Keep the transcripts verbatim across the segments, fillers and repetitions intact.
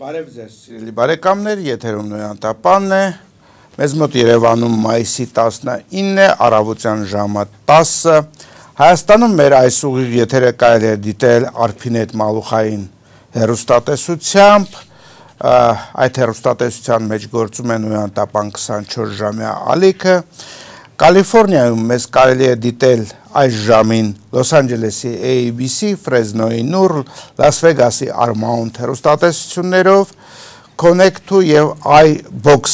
Բարև ձեզ, սիրելի բարեկամներ, եթերում Նոյան Տապանն է, մեզ մոտ Երևանում մայիսի տասնինը, առավոտյան ժամը տասը, Հայաստանում մեր այս ուղիղ եթերը կարելի է դիտել Արփինետ Մալուխային հեռուստատեսությամբ, այդ հեռուստատեսության մեջ գործում է Նոյան Տապան քսանչորս ժամյա ալիքը, Կալիֆորնիայում մեզ կարելի է դիտել այս ժամին Լոս Անջելեսի A B C, Ֆրեզնոյի Նուր, Լաս Վեգասի Արմաունտ հեռուստատեսություններով, Connect-ու և iBox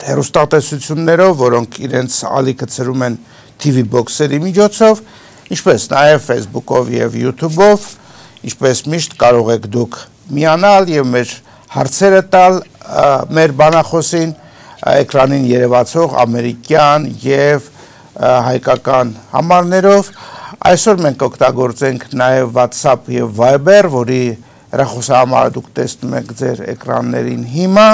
հեռուստատեսություններով, որոնք իրենց ալիքը ցրում են T V Box-երի միջոցով, ինչպես նաև Facebook-ով և YouTube-ով, ինչպես միշտ կարող եք դուք միանալ և մեր հարցերը տալ մեր բանախոսին, էկրանին երևացող ամերիկյան և հայկական համարներով, այսօր մենք օգտագործենք նաև WhatsApp և Viber, որի հեռախոսահամարը դուք տեսնում եք ձեր էկրաններին հիմա,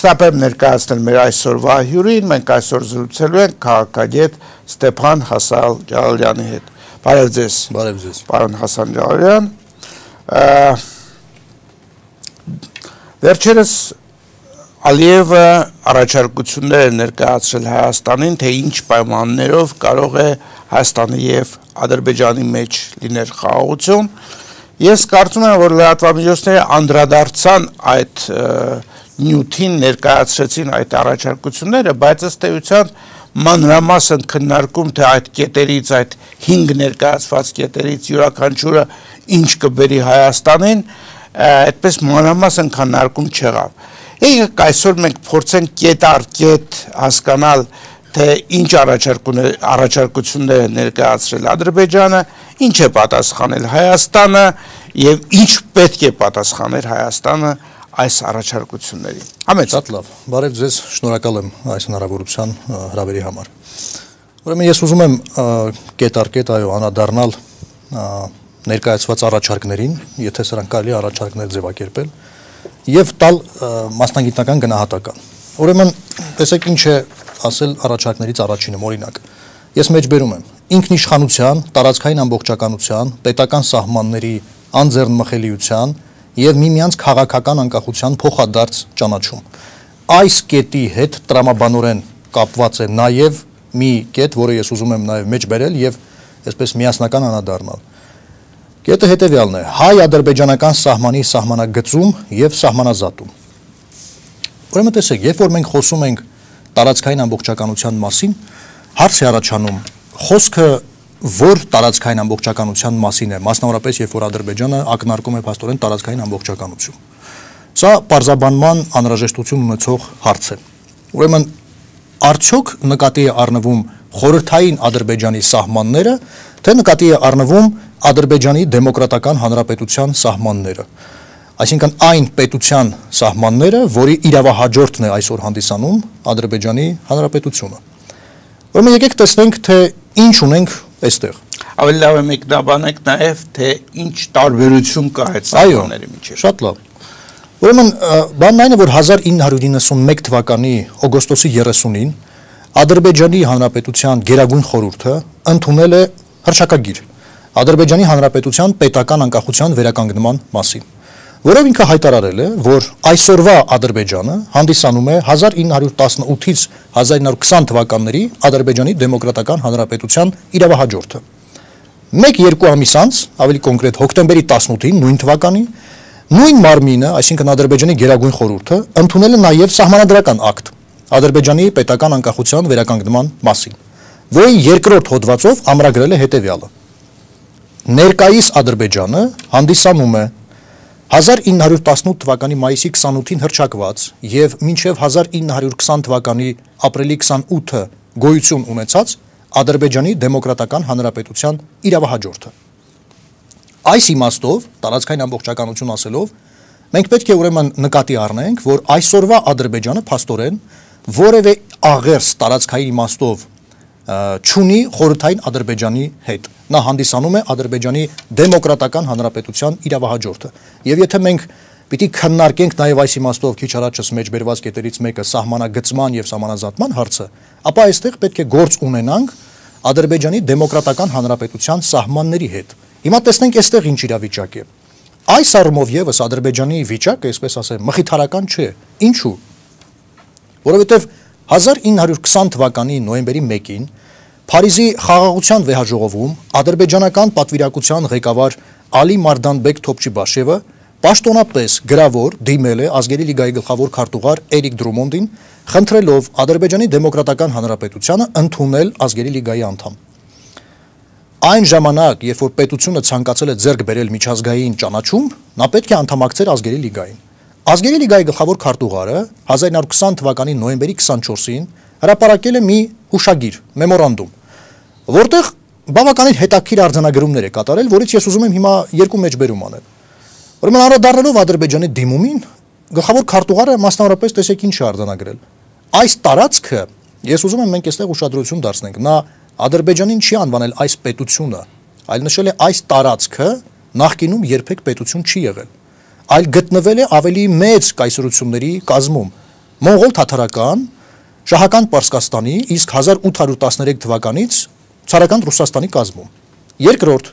շտապ եմ ներկայացնել մեր այսօրվա հյուրին, մենք այսօր զրուցելու ենք քաղաքագետ Ստեփան Հասան Ջալալյանի հետ։ Բարև ձեզ։ Բարև ձեզ։ Պարոն Հասան Ջալալյան։ Վերջերս Ալիևը առաջարկություններ է ներկայացրել Հայաստանին, թե ինչ պայմաններով կարող է Հայաստանի և Ադրբեջանի մեջ լինել խաղաղություն։ Ես կարծում եմ, որ լրատվամիջոցները անդրադարձան այդ նյութին, ներկայացրեցին այդ առաջարկությունները, բայց ըստ էության մանրամասն քննարկում, թե այդ կետերից, այդ հինգ ներկայացված կետերից յուրաքանչյուրը ինչ կբերի Հայաստանին, այդպես մանրամասն քննարկում չեղավ։ Եկեք այսօր մենք փորձենք կետ առ կետ հասկանալ, թե ինչ առաջարկություններ է ներկայացրել Ադրբեջանը, ինչ է պատասխանել Հայաստանը և ինչ պետք է պատասխաներ Հայաստանը այս առաջարկություններին։ Համեցեք։ Շատ լավ, բարև ձեզ, շնորհակալ եմ այս հնարավորության հրավերի համար։ Ուրեմն ես ուզում եմ կետ առ կետ այո անդրադառնալ ներկայացված առաջարկներին, եթե սրանք կարելի է առաջարկներ ձևակերպել, և տալ մասնագիտական գնահատական։ Ուրեմն, տեսեք ինչ է ասել առաջարկներից առաջինը, օրինակ։ Ես մեջբերում եմ ինքնիշխանության, տարածքային ամբողջականության, պետական սահմանների անձեռնմխելիության և միմյանց քաղաքական անկախության փոխադարձ ճանաչում։ Այս կետի հետ տրամաբանորեն կապված է նաև մի կետ, որը ես ուզում եմ նաև մեջբերել և այսպես միասնական անդրադառնալ։ Կետը հետևյալն է, հայ-ադրբեջանական սահմանի սահմանագծում և սահմանազատում։ Ուրեմն տեսեք, երբ որ մենք խոսում ենք տարածքային ամբողջականության մասին, հարց է առաջանում, խոսքը որ տարածքային ամբողջականության մասին է, մասնավորապես երբ որ Ադրբեջանը ակնարկում է փաստորեն տարածքային ամբողջականություն։ Սա պարզաբանման անհրաժեշտություն ունեցող հարց է։ Ուրեմն արդյոք նկատի է առնվում խորհրդային Ադրբեջանի սահմանները, թե նկատի է առնվում Ադրբեջանի դեմոկրատական հանրապետության սահմանները, այսինքն այն պետության սահմանները, որի իրավահաջորդն է այսօր հանդիսանում Ադրբեջանի հանրապետությունը։ Ուրեմն եկեք տեսնենք, թե ինչ ունենք այստեղ։ Ավելի լավ է մեկնաբանենք նաև, թե ինչ տարբերություն կա այդ սահմանների միջև։ Շատ լավ։ Ուրեմն բանն այն է, որ հազար ինը հարյուր իննսունմեկ թվականի օգոստոսի երեսունին Ադրբեջանի հանրապետության գերագույն խորհուրդը ընդունել է հռչակագիր Ադրբեջանի հանրապետության պետական անկախության վերականգնման մասին, որով ինքը հայտարարել է, որ այսօրվա Ադրբեջանը հանդիսանում է հազար ինը հարյուր տասնութից հազար ինը հարյուր քսան թվականների Ադրբեջանի դեմոկրատական հանրապետության իրավահաջորդը։ Մեկ-երկու ամիս անց, ավելի կոնկրետ հոկտեմբերի տասնութին նույն թվականի, նույն մարմինը, այսինքն Ադրբեջանի գերագույն խորհուրդը, ընդունել է նաև սահմանադրական ակտ Ադրբեջանի պետական անկախության վերականգնման մասին, որի երկրորդ հոդվածով ամրագրել է հետևյալը. Ներկայիս Ադրբեջանը հանդիսանում է հազար ինը հարյուր տասնութ թվականի մայիսի քսանութին հռչակված և մինչև հազար ինը հարյուր քսան թվականի ապրիլի քսանութը գոյություն ունեցած Ադրբեջանի դեմոկրատական հանրապետության իրավահաջորդը։ Այս իմաստով, տարածքային ամբողջականություն ասելով, մենք պետք է ուրեմն նկատի առնենք, որ այսօրվա Ադրբեջանը փաստորեն որևէ աղերս տարածքային իմաստով չունի խորհրդային Ադրբեջանի հետ։ Նա հանդիսանում է Ադրբեջանի դեմոկրատական հանրապետության իրավահաջորդը։ Եվ եթե մենք պիտի քննարկենք նաև այս իմաստով քիչ առաջս մեջբերված կետերից մեկը սահմանագծման եւ սահմանազատման հարցը, ապա այստեղ պետք է գործ ունենանք Ադրբեջանի դեմոկրատական հանրապետության սահմանների հետ։ Հիմա տեսնենք այստեղ ինչ իրավիճակ է։ Այս առումով եւս Ադրբեջանի վիճակը, այսպես ասեմ, մխիթարական չէ։ Ինչու՞։ Որովհետեւ հազար ինը հարյուր քսան թվականի նոյեմբերի մեկին Փարիզի խաղաղության վեհաժողովում ադրբեջանական պատվիրակության ղեկավար Ալի Մարդանբեկ Թոփչիբաշևը պաշտոնապես գրավոր դիմել է Ազգերի լիգայի գլխավոր քարտուղար Էրիկ Դրումոնդին, խնդրելով Ադրբեջանի դեմոկրատական հանրապետությանը ընդունել Ազգերի լիգայի անդամ։ Այն ժամանակ, երբ որ պետությունը ցանկացել է ձեռք բերել միջազգային ճանաչում, նա պետք է անդամակցեր Ազգերի լիգային։ Ազգերի լիգայի գլխավոր քարտուղարը հազար ինը հարյուր քսան թվականի նոյեմբերի քսանչորսին հրապարակել է մի հուշագիր, մեմորանդում, որտեղ բավականին հետաքրքիր արձանագրումներ է կատարել, որից ես ուզում եմ հիմա երկու մեջբերում անել։ Ուրեմն անդրադառնալով Ադրբեջանի դիմումին, գլխավոր քարտուղարը մասնավորապես տեսեք ինչ է արձանագրել։ Այս տարածքը, ես ուզում եմ մենք այստեղ ուշադրություն դարձնենք, նա Ադրբեջանին չի անվանել այս պետությունը, այլ նշել է այս տարածքը նախկինում երբեք պետություն չի եղել, այլ գտնվել է ավելի մեծ կայսրությունների կազմում՝ մոնղոլ թաթարական, շահական Պարսկաստանի, իսկ հազար ութ հարյուր տասներեք թվականից ցարական Ռուսաստանի կազմում։ Երկրորդ,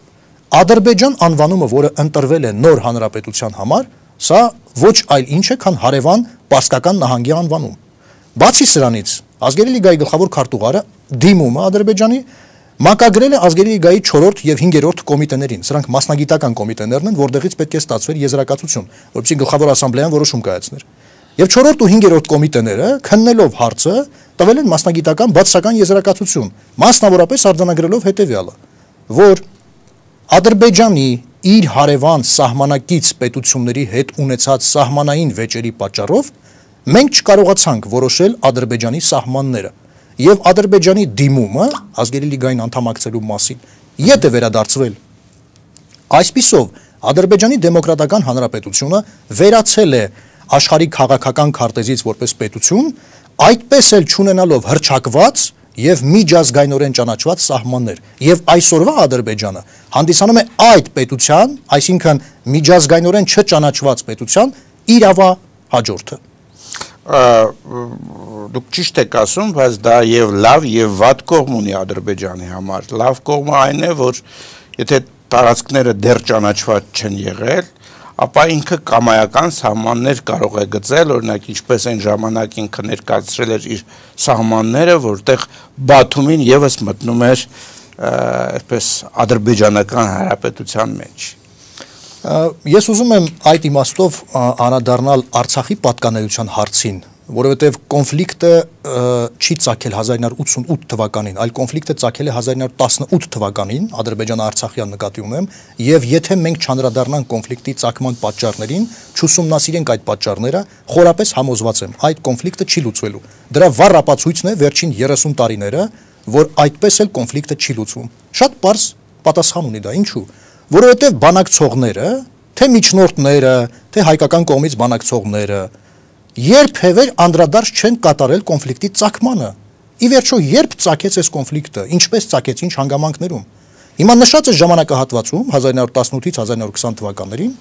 Ադրբեջան անվանումը, որը ընտրվել է նոր հանրապետության համար, սա ոչ այլ ինչ է, քան հարևան Պարսկական նահանգի անվանում։ Բացի սրանից, Ազգերի լիգայի գլխավոր քարտուղարը դիմումը Ադրբեջանի մակագրել է Ազգերի լիգայի չորրորդ եւ հինգերորդ կոմիտեներին։ Սրանք մասնագիտական կոմիտեներն են, որտեղից պետք է ստացվեր եզրակացություն, որպեսզի գլխավոր ասամբլեան որոշում կայացներ։ Եվ չորրորդ ու հինգերորդ կոմիտեները, քննելով հարցը, տվել են մասնագիտական բացասական եզրակացություն, մասնավորապես արձանագրելով հետեւյալը, որ Ադրբեջանի իր հարևան սահմանակից պետությունների հետ ունեցած սահմանային վեճերի պատճառով մենք չկարողացանք որոշել Ադրբեջանի սահմանները եւ Ադրբեջանի դիմումը Ազգերի լիգային անդամակցելու մասին ետ է վերադարձվել։ Այսպիսով Ադրբեջանի դեմոկրատական հանրապետությունը վերացել է աշխարհի քաղաքական քարտեզից որպես պետություն, այդպես էլ չունենալով հռչակված եւ միջազգայնորեն ճանաչված սահմաններ, եւ այսօրվա Ադրբեջանը հանդիսանում է այդ պետության, այսինքն միջազգայնորեն չճանաչված պետության իրավա հաջորդը։ Դուք ճիշտ եք ասում, բայց դա եւ լավ եւ վատ կողմ ունի Ադրբեջանի համար։ Լավ կողմը այն է, որ եթե տարածքները դեռ ճանաչված չեն եղել, ապա ինքը կամայական սահմաններ կարող է գծել, օրինակ ինչպես այն ժամանակ ինքը ներկայացրել էր իր սահմանները, որտեղ Բաթումին եւս մտնում էր այսպես ադրբեջանական հանրապետության մեջ։ Ես ուզում եմ այդ իմաստով անդրադառնալ Արցախի պատկանելիության հարցին, որովհետև կոնֆլիկտը չի ծագել հազար ինը հարյուր ութսունութ թվականին, այլ կոնֆլիկտը ծագել է հազար ինը հարյուր տասնութ թվականին, Ադրբեջան-Արցախյան նկատի ունեմ, եւ եթե մենք չանդրադառնանք կոնֆլիկտի ծագման պատճառներին, չուսումնասիրենք այդ պատճառները, խորապես համոզված եմ, այդ կոնֆլիկտը չի լուծվելու։ Դրա վառ ապացույցն է վերջին երեսուն տարիները, որ այդպես էլ կոնֆլիկտը չի լուծվում։ Շատ պարզ պատասխան ունի դա, ինչու՞։ Որովհետև բանակցողները, թե միջնորդները, թե հայկական կողմից բանակցողները երբևէ անդրադարձ չեն կատարել կոնֆլիկտի ծագմանը։ Ի վերջո, երբ ծագեց այս կոնֆլիկտը, ինչպես ծագեց, ինչ հանգամանքներում։ Հիմա նշած է ժամանակահատվածում հազար ինը հարյուր տասնութից հազար ինը հարյուր քսան թվականներին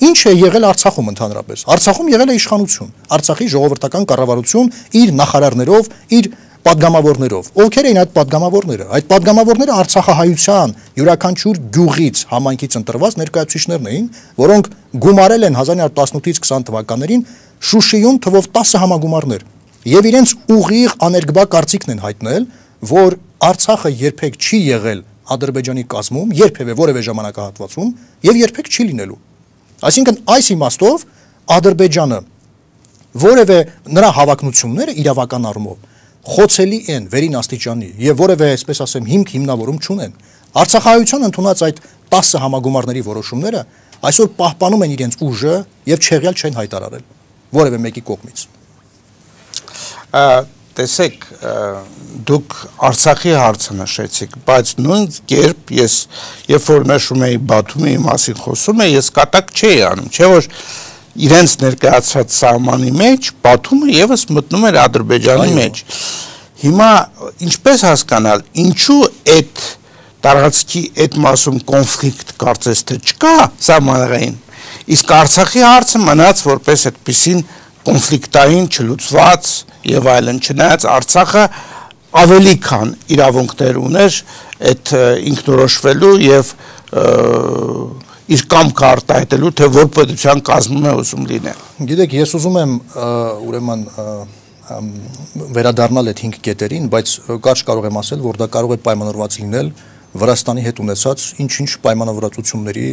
ինչ է եղել Արցախում ընդհանրապես։ Արցախում եղել է իշխանություն, Արցախի ժողովրդական կառավարություն իր նախարարներով, իր պատգամավորներով։ Ովքեր էին այդ պատգամավորները։ Այդ պատգամավորները Արցախահայության յուրաքանչյուր գյուղից, համայնքից ընտրված ներկայացուցիչներն էին, որոնք գումարել են հազար ինը հարյուր տասնութից քսան թվականներին Շուշիում թվով տասը համագումարներ եւ իրենց ուղիղ աներկբա կարծիքն են հայտնել, որ Արցախը երբեք չի եղել Ադրբեջանի կազմում, երբևէ որևէ ժամանակահատվածում եւ երբեք չի լինելու։ Այսինքն այս իմաստով Ադրբեջանը որևէ նրա հավակնությունները իրավական առումով խոցելի են վերին աստիճանի եւ որևէ, այսպես ասեմ, հիմք հիմնավորում չունեն։ Արցախահայության ընդունած այդ տասը համագումարների որոշումները այսօր պահպանում են իրենց ուժը եւ չեղյալ չեն հայտարարել որևէ մեկի կողմից։ Տեսեք, դուք Արցախի հարցը նշեցիք, բայց նույն կերպ ես, երբ որ նշում էի Բաթումի մասին խոսում եմ, ես կատակ չէի անում, չէ՞ որ իրենց ներկայացած սահմանի մեջ Բաթումը եւս մտնում էր Ադրբեջանի մեջ։ Հիմա ինչպես հասկանալ, ինչու այդ տարածքի այդ մասում կոնֆլիկտ կարծես թե չկա սահմանային, իսկ Արցախի հարցը մնաց որպես այդպիսին կոնֆլիկտային, չլուծված եւ այլն, չնայած Արցախը ավելի քան իրավունքներ ուներ այդ ինքնորոշվելու եւ իր կամքը արտահայտելու, թե որ պետության կազմում է ուզում լինել։ Գիտեք, ես ուզում եմ ուրեմն վերադառնալ այդ հինգ կետերին, բայց կարճ կարող եմ ասել, որ դա կարող է պայմանավորված լինել Վրաստանի հետ ունեցած ինչ-ինչ պայմանավորվածությունների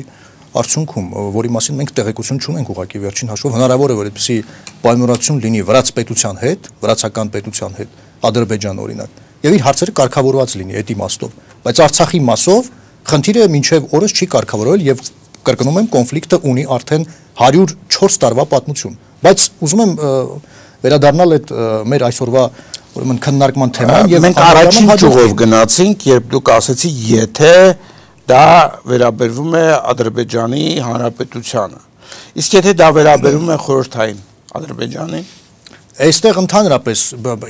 արդյունքում, որի մասին մենք տեղեկություն չունենք ուղղակի վերջին հաշվով, հնարավոր է որ այդպիսի պայմանավորվածություն լինի վրաց պետության հետ, վրացական պետության հետ, Ադրբեջան օրինակ, եւ իր հարցերը կարգավորված լինի այդ իմաստով, բայց Արցախի մասով խնդիրը մինչև օրս չի կարգավորվել եւ կրկնում եմ կոնֆլիկտը ունի արդեն հարյուր չորս տարվա պատմություն, բայց ուզում եմ վերադառնալ այդ մեր այսօրվա ուրեմն քննարկման թեման եւ մենք առաջին ճյուղով գնացինք, երբ դուք ասեցիք, եթե դա վերաբերվում է Ադրբեջանի Հանրապետությանը, իսկ եթե դա վերաբերվում է խորհրդային Ադրբեջանին, այստեղ ընդհանրապես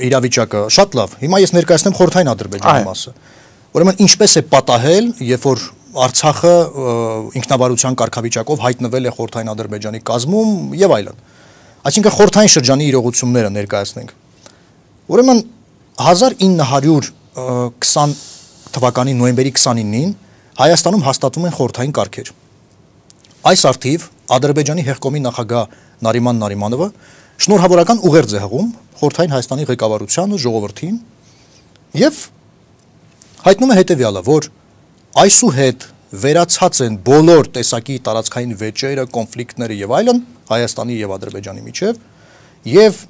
իրավիճակը շատ լավ, հիմա ես ներկայացնեմ խորհրդային Ադրբեջանի մասը, ուրեմն ինչպես է պատահել, երբ որ Արցախը ինքնավարության կարգավիճակով հայտնվել է խորհրդային Ադրբեջանի կազմում եւ այլն, այսինքն խորհրդային շրջանի իրողությունները ներկայացնենք, ուրեմն հազար ինը հարյուր քսան թվականի նոյեմբերի քսանինին Հայաստանում հաստատվում են խորհրդային կարգեր։ Այս արդիվ Ադրբեջանի հեղկոմի նախագահ Նարիման Նարիմանովը շնորհավորական ուղերձ է հղում խորհրդային Հայաստանի ղեկավարությանը, ժողովրդին եւ հայտնում է հետեւյալը, որ այսուհետ վերացած են բոլոր տեսակի տարածքային վեճերը, կոնֆլիկտները եւ այլն Հայաստանի եւ Ադրբեջանի միջեւ եւ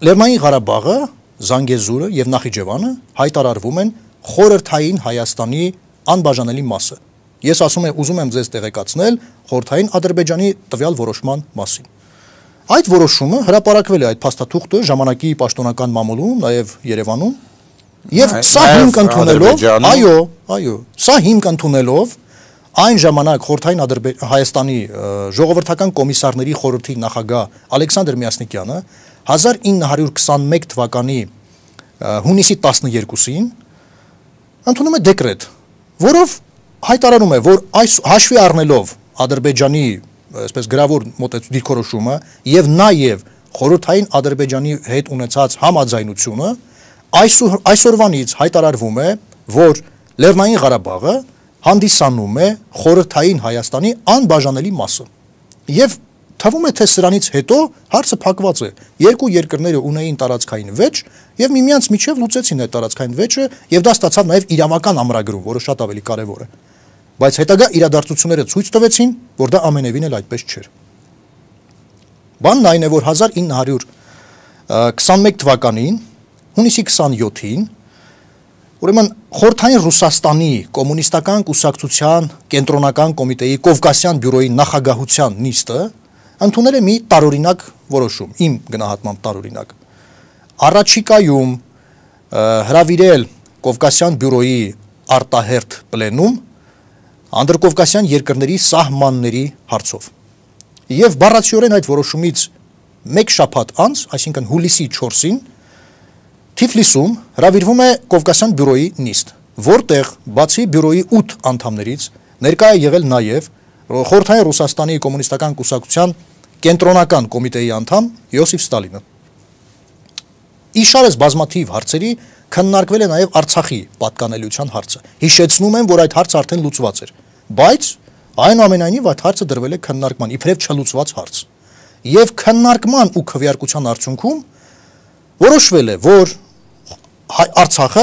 Լեռնային Ղարաբաղը, Զանգեզուրը եւ Նախիջևանը հայտարարվում են խորհրդային Հայաստանի անբաժանելի մասը։ Ես ասում եմ, ուզում եմ ձեզ տեղեկացնել խորհրդային Ադրբեջանի տվյալ որոշման մասին։ Այդ որոշումը հրապարակվել է այդ փաստաթուղթը ժամանակի պաշտոնական մամուլում, նաեւ Երևանում, եւ սա հիմք ընդունելով, այո, այո, սա հիմք ընդունելով այն ժամանակ խորհրդային Հայաստանի ժողովրդական կոմիսարների խորհրդի նախագահ Ալեքսանդր Միասնիկյանը հազար ինը հարյուր քսանմեկ թվականի հունիսի տասներկուսին ընդունում է դեկրետ, որով հայտարարում է, որ այս հաշվի առնելով Ադրբեջանի այսպես գրավոր մոտեցու դիրքորոշումը եւ նաեւ խորհրդային Ադրբեջանի հետ ունեցած համաձայնությունը այսօր այսօրվանից հայտարարվում է, որ Լեռնային Ղարաբաղը հանդիսանում է խորհրդային Հայաստանի անբաժանելի մասը։ Եվ թվում է, թե սրանից հետո հարցը փակված է։ Երկու երկրները ունեին տարածքային վեճ եւ միմյանց միջև լուծեցին այդ տարածքային վեճը եւ դա ստացավ նաեւ իրավական ամրագրում, որը շատ ավելի կարեւոր է։ Բայց հետագա իրադարձությունները ցույց տվեցին, որ դա ամենևին էլ այդպես չէր։ Բանն այն է, որ հազար ինը հարյուր քսանմեկ թվականին հունիսի քսանյոթին ուրեմն խորհրդային Ռուսաստանի կոմունիստական կուսակցության կենտրոնական կոմիտեի Կովկասյան բյուրոյի նախագահության նիստը ընդունել է մի տարօրինակ որոշում, իմ գնահատմամբ տարօրինակ։ Առաջիկայում հրավիրել Կովկասյան բյուրոյի արտահերթ պլենում անդրկովկասյան երկրների սահմանների հարցով։ Եվ բառացիորեն այդ որոշումից մեկ շաբաթ անց, այսինքն հուլիսի չորսին, Թիֆլիսում հրավիրվում է Կովկասյան բյուրոյի նիստ, որտեղ բացի բյուրոյի ութ անդամներից ներկա է եղել նաև խորհրդային Ռուսաստանի կոմունիստական կուսակցության կենտրոնական կոմիտեի անդամ Յոսիֆ Ստալինը։ Իշարես բազմաթիվ հարցերի քննարկվել է նաև Արցախի պատկանելիության հարցը։ Հիշեցնում եմ, որ այդ հարցը արդեն լուծված էր, բայց այնուամենայնիվ այդ հարցը դրվել է քննարկման, իբրև չլուծված հարց։ Եվ քննարկման ու քվեարկության արդյունքում որոշվել է, որ Արցախը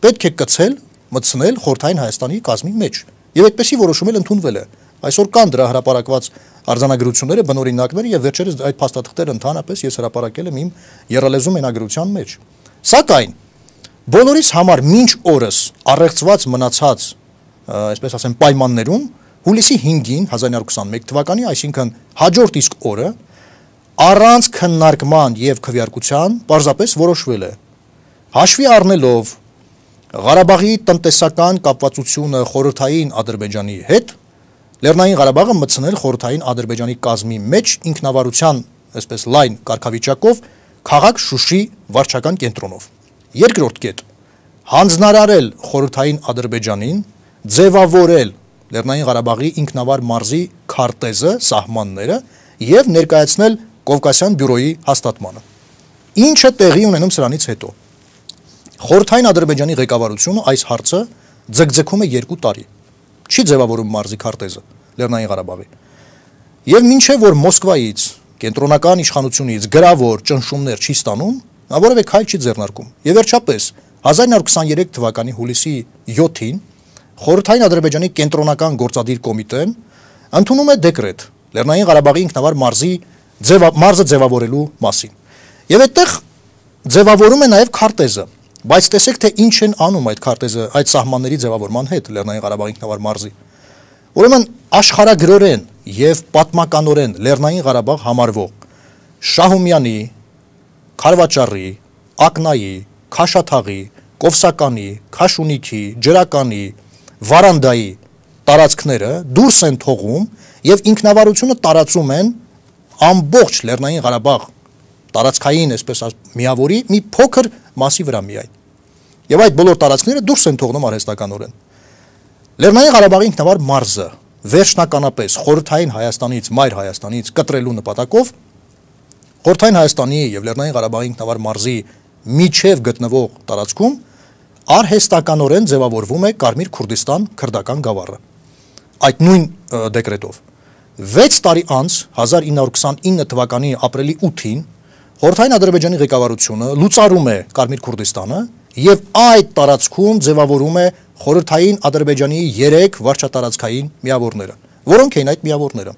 պետք է կցել, մտցնել խորհրդային Հայաստանի կազմի մեջ։ Եվ այդպեսի որոշում էլ ընդունվել է։ Այսօր կան դրա հրապարակված արձանագրությունները, բնօրինակները եւ վերջերս այդ փաստաթղթերը ընդհանրապես ես հրապարակել եմ իմ եռալեզու մենագրության մեջ։ Սակայն բոլորիս համար մինչ օրս առեղծված մնացած, այսպես ասեմ, պայմաններում հուլիսի հինգին հազար ինը հարյուր քսանմեկ թվականի, այսինքն հաջորդ իսկ օրը առանց քննարկման եւ քվեարկության պարզապես որոշվել է հաշվի առնելով Ղարաբաղի տնտեսական կապվածությունը խորհրդային Ադրբեջանի հետ Լեռնային Ղարաբաղը մտցնել խորհրդային Ադրբեջանի կազմի մեջ ինքնավարության, այսպես լայն կարգավիճակով քաղաք Շուշի վարչական կենտրոնով։ Երկրորդ կետ հանձնարարել խորհրդային Ադրբեջանին ձևավորել Լեռնային Ղարաբաղի ինքնավար մարզի քարտեզը, սահմանները եւ ներկայացնել Կովկասյան բյուրոյի հաստատմանը։ Ինչը տեղի ունենում սրանից հետո։ Խորհրդային Ադրբեջանի ղեկավարությունը այս հարցը ձգձգում է երկու տարի։ Չի ձևավորում մարզի քարտեզը։ Լեռնային Ղարաբաղի։ Եվ մինչև որ Մոսկվայից, կենտրոնական իշխանությունից գրավոր ճնշումներ չի ստանում, նա որևէ քայլ չի ձեռնարկում։ Եվ վերջապես հազար իննսուն քսաներեք թվականի հուլիսի յոթին Խորհրդային Ադրբեջանի կենտրոնական գործադիր կոմիտեն ընդունում է դեկրետ Լեռնային Ղարաբաղի ինքնավար մարզի մարզը ձևավորելու մասին։ Եվ այդտեղ ձևավորում է նաև քարտեզը, բայց տեսեք թե ինչ են անում այդ քարտեզը այդ սահմանների ձևավորման հետ Լեռնային Ղարաբաղի ինքնավար մարզի։ Ուրեմն աշխարհագրորեն եւ պատմականորեն Լեռնային Ղարաբաղ համարվող Շահումյանի, Խարվաճարի, Ակնայի, Քաշաթաղի, Կովսականի, Քաշունիքի, Ջրականի, Վարանդայի տարածքները դուրս են թողում եւ ինքնավարությունը տարածում են ամբողջ Լեռնային Ղարաբաղ տարածքային, այսպես միավորի մի փոքր մասի վրա միայն։ Եվ այդ բոլոր տարածքները դուրս են թողնում արհեստականորեն։ Լեռնային Ղարաբաղի ինքնավար մարզը վերջնականապես Խորհրդային Հայաստանից, Մայր Հայաստանից կտրելու նպատակով Խորհրդային Հայաստանի եւ Լեռնային Ղարաբաղի ինքնավար մարզի միջև գտնվող տարածքում արհեստականորեն ձևավորվում է Կարմիր Քուրդիստան քրդական գավառը։ Այդ նույն դեկրետով վեց տարի անց հազար իննսուն քսանինը թվականի ապրիլի ութին Խորհրդային Ադրբեջանի ղեկավարությունը լուծարում է Կարմիր Քուրդիստանը եւ այդ տարածքում ձևավորում է Խորհրդային Ադրբեջանի երեք վարչատարածքային միավորները, որոնք էին այդ միավորները։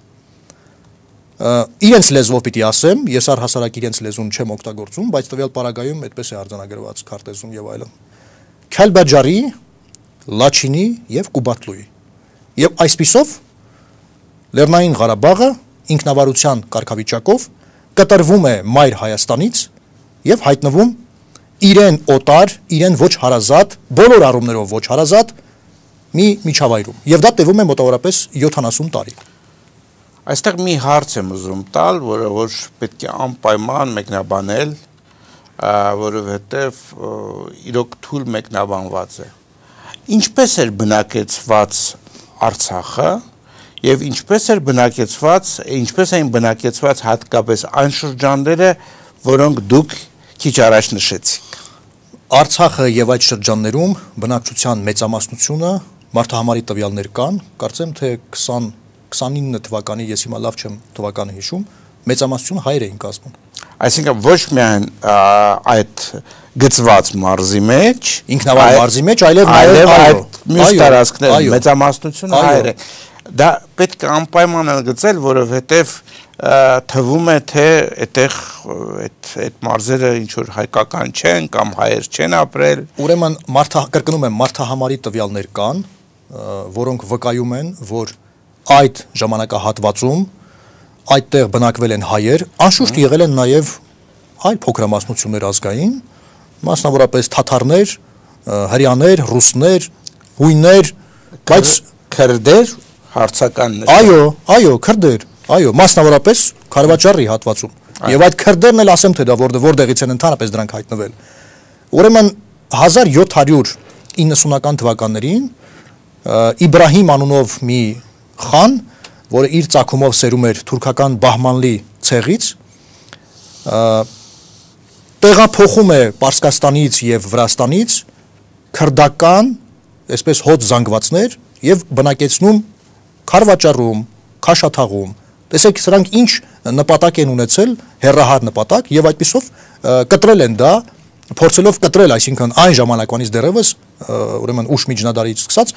Իրենց լեզվով պիտի ասեմ, ես առհասարակ իրենց լեզուն չեմ օգտագործում, բայց տվյալ պարագայում այդպես է արձանագրված քարտեզում եւ այլն։ Քելբաջարի, Լաչինի եւ Կուբատլուի։ Եվ այսպիսով Լեռնային Ղարաբաղը ինքնավարության կարգավիճակով կտրվում է Մայր Հայաստանից եւ հայտնվում իրեն օտար, իրեն ոչ հարազատ, բոլոր առումներով ոչ հարազատ մի միջավայրում։ Եվ դա տևում է մոտավորապես յոթանասուն տարի։ Այստեղ մի հարց եմ ուզում տալ, որը որ պետք է անպայման մեկնաբանել, որովհետև իրոք թույլ մեկնաբանված է։ Ինչպես էր բնակեցված Արցախը եւ ինչպես էր բնակեցված, ինչպես էին բնակեցված հատկապես այն շրջանները, որոնք դուք քիչ առաջ նշեցիք։ Արցախը եւ այդ շրջաններում բնակչության մեծամասնությունը մարդահամարի տվյալներ կան, կարծեմ թե քսան քսանինը թվականի, ես հիմա լավ չեմ թվականը հիշում, մեծամասնությունը հայեր էին կազմում։ Այսինքն ոչ միայն այդ գծված մարզի մեջ, ինքնավար մարզի մեջ, այլև այլև այդ մյուս տարածքներում մեծամասնությունը հայեր է։ Դա պետք է անպայման ընդգծել, որովհետև թվում է թե այդտեղ այդ այդ մարզերը ինչ որ հայկական չեն կամ հայեր չեն ապրել։ Ուրեմն մարդա կրկնում եմ, մարդահամարի տվյալներ կան, որոնք վկայում են, որ այդ ժամանակահատվածում այդտեղ բնակվել են հայեր, անշուշտ եղել են նաև այլ փոքրամասնություններ ազգային, մասնավորապես թաթարներ, հրեաներ, ռուսներ, հույներ, բայց քրդեր, հարցական նշան։ Այո, այո, քրդեր, այո, մասնավորապես Խարվաճարի հատվածում։ Եվ այդ քրդերն էլ ասեմ թե դա որտեղից են ընդհանրապես դրանք հայտնվել։ Ուրեմն հազար յոթ հարյուր իննսունական թվականներին Իբրահիմ անունով մի խան, որը իր ծագումով սերում էր թուրքական Բահմանլի ցեղից, տեղափոխում է Պարսկաստանից եւ Վրաստանից քրդական, այսպես հոտ զանգվածներ եւ բնակեցնում Խարվաճարում, Քաշաթաղում։ Տեսեք, սրանք ինչ նպատակ են ունեցել, հերրահար նպատակ եւ այդպիսով կտրել են դա, փորձելով կտրել, այսինքն այն ժամանակվանից դեռևս, ուրեմն ուշ միջնադարից սկսած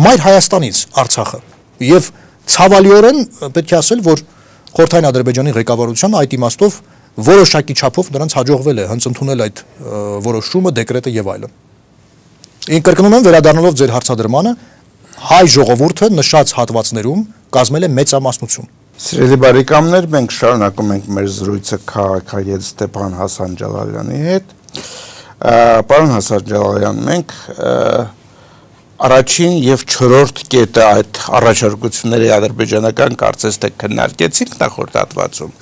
Մայր Հայաստանից Արցախը եւ ցավալիորեն պետք է ասել, որ Խորհրդային Ադրբեջանի ղեկավարության այդ իմաստով որոշակի չափով նրանց հաջողվել է հենց ընդունել այդ որոշումը, դեկրետը եւ այլն։ Ին կրկնում եմ, վերադառնալով ձեր հարցադրմանը, հայ ժողովուրդը նշած հատվածներում կազմել է մեծամասնություն։ Սիրելի բարեկամներ, մենք շարունակում ենք մեր զրույցը քաղաքագետ Ստեփան Հասանջալալյանի հետ։ Պարոն Հասանջալալյան, մենք առաջին եւ չորրորդ կետը այդ առաջարկությունների ադրբեջանական կարծես թե քննարկեցինք նախորդ հատվածում։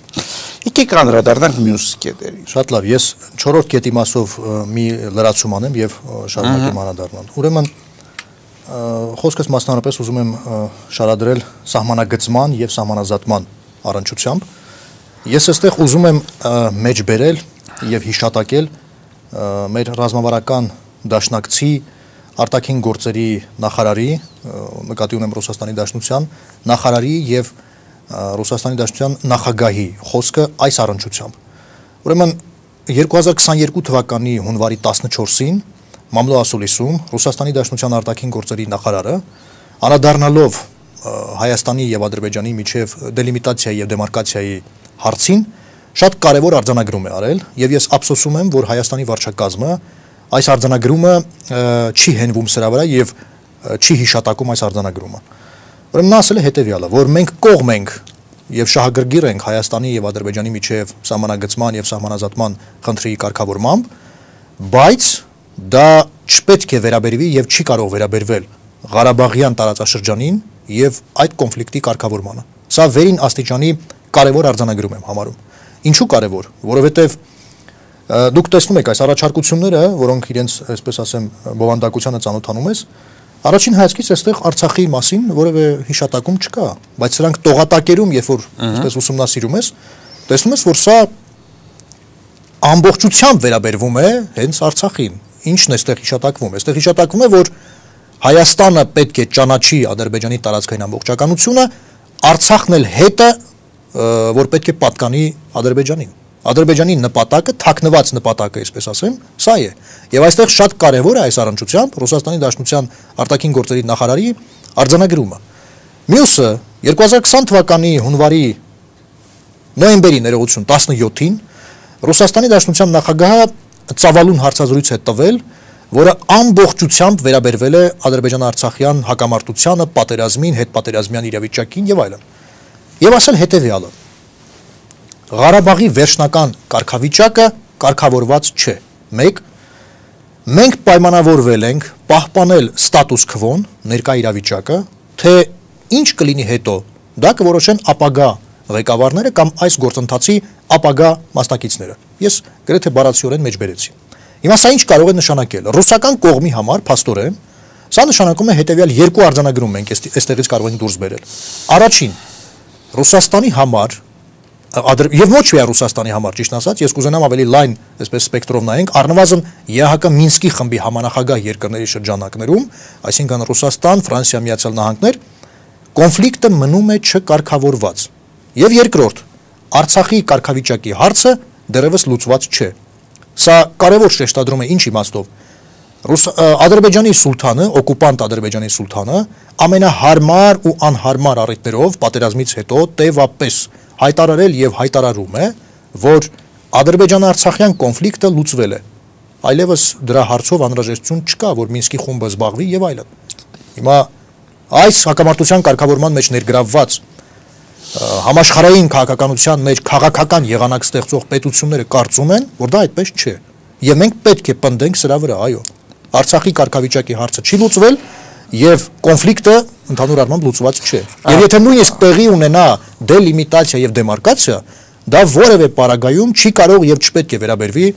Եկեք անդրադառնանք մյուս կետերին։ Շատ լավ, ես չորրորդ կետի մասով մի լրացում անեմ եւ շարունակեմ անդրադառնալ։ Ուրեմն խոսքս մասնավորապես ուզում եմ շարադրել սահմանագծման եւ սահմանազատման առնչությամբ։ Ես այստեղ ուզում եմ մեջ բերել եւ հիշատակել մեր ռազմավարական դաշնակցի արտաքին գործերի նախարարի, նկատի ունեմ Ռուսաստանի Դաշնության նախարարի եւ Ռուսաստանի Դաշնության նախագահի խոսքը այս առնչությամբ։ Ուրեմն երկու հազար քսաներկու թվականի հունվարի տասնչորսին Մամլո Ասուլիսում Ռուսաստանի Դաշնության արտաքին գործերի նախարարը անդրադառնալով Հայաստանի եւ Ադրբեջանի միջև դելիմիտացիայի եւ դեմարկացիայի հարցին շատ կարևոր արձանագրում է արել եւ ես ափսոսում եմ, որ Հայաստանի վարչակազմը այս արձանագրումը չի հենվում սրա վրա եւ չի հիշատակում այս արձանագրումը։ Ուրեմն նա ասել է հետեւյալը, որ մենք կողմ ենք եւ շահագրգիռ ենք Հայաստանի եւ Ադրբեջանի միջև սահմանագծման եւ սահմանազատման խնդրի կարգավորմամբ, բայց դա չպետք է վերաբերվի եւ չի կարող վերաբերվել Ղարաբաղյան տարածաշրջանին եւ այդ կոնֆլիկտի կարգավորմանը։ Սա վերին աստիճանի կարևոր արձանագրում եմ համարում։ Ինչու կարևոր, որովհետեւ դուք տեսնում եք այս առաջարկությունները, որոնք իրենց, այսպես ասեմ, բովանդակությանը ծանոթանում ես, առաջին հայացքից այստեղ Արցախի մասին որևէ հիշատակում չկա, բայց սրանք տողատակերում, երբ որ այսպես ուսումնասիրում ես, տեսնում ես, որ սա ամբողջությամբ վերաբերվում է հենց Արցախին։ Ինչն է այստեղ հիշատակվում։ Այստեղ հիշատակվում է, որ Հայաստանը պետք է ճանաչի Ադրբեջանի տարածքային ամբողջականությունը, Արցախն էլ հետը, որ պետք է պատկանի Ադրբեջանին։ Ադրբեջանի նպատակը, թաքնված նպատակը, այսպես ասեմ, սա է։ Եվ այստեղ շատ կարևոր է այս առնչությամբ Ռուսաստանի Դաշնության արտաքին գործերի նախարարի արձանագրումը։ Մյուսը երկու հազար քսան թվականի հունվարի նոյեմբերի ներողություն տասնյոթին Ռուսաստանի Դաշնության նախագահը ծավալուն հարցազրույց է տվել, որը ամբողջությամբ վերաբերվել է Ադրբեջան-Արցախյան հակամարտությանը, պատերազմին, հետպատերազմյան իրավիճակին եւ այլն։ Եվ ասել հետեւյալը. Ղարաբաղի վերջնական կարգավիճակը կարգավորված չէ։ մեկ Մենք պայմանավորվել ենք պահպանել ստատուս քվոն, ներկա իրավիճակը, թե ինչ կլինի հետո, դա կորոշեն ապագա ղեկավարները կամ այս գործընթացի ապագա մասնակիցները։ Ես գրեթե բառացիորեն մեջբերեցի։ Հիմա սա ինչ կարող է նշանակել։ Ռուսական կողմի համար փաստորեն սա նշանակում է հետեւյալ երկու արձանագրում մենք այստեղից կարող ենք դուրս բերել։ Առաջին, Ռուսաստանի համար եւ ոչ միայն Ռուսաստանի համար, ճիշտ ասած, ես կուզենամ ավելի լայն, այսպես սպեկտրով նայենք, առնվազն ԵԱՀԿ Մինսկի խմբի համանախագահ երկրների շրջանակներում, այսինքն Ռուսաստան, Ֆրանսիա, Միացյալ Նահանգներ, կոնֆլիկտը մնում է չկարգավորված։ Եվ երկրորդ, Արցախի կարգավիճակի հարցը դեռևս լուծված չէ։ Սա կարևոր շեշտադրում է ինչ իմաստով։ Ադրբեջանի սուլթանը, օկուպանտ Ադրբեջանի սուլթանը ամենահարմար ու անհարմար առիթներով պատերազմից հետո տևապես հայտարարել եւ հայտարարում է, որ Ադրբեջան-Արցախյան կոնֆլիկտը լուծվել է։ Այլևս դրա հարցով անհրաժեշտություն չկա, որ Մինսկի խումբը զբաղվի եւ այլն։ Հիմա այս հակամարտության կարգավորման մեջ ներգրավված համաշխարհային քաղաքականության մեջ քաղաքական եղանակ ստեղծող պետությունները կարծում են, որ դա այդպես չէ։ Եվ մենք պետք է պնդենք սրա վրա, այո։ Արցախի կարգավիճակի հարցը չի լուծվել եւ կոնֆլիկտը ընդհանուր առմամբ լուծված չէ։ Եվ եթե նույնիսկ տեղի ունենա դելիմիտացիա եւ դեմարկացիա, դա որևէ պարագայում չի կարող եւ չպետք է վերաբերվի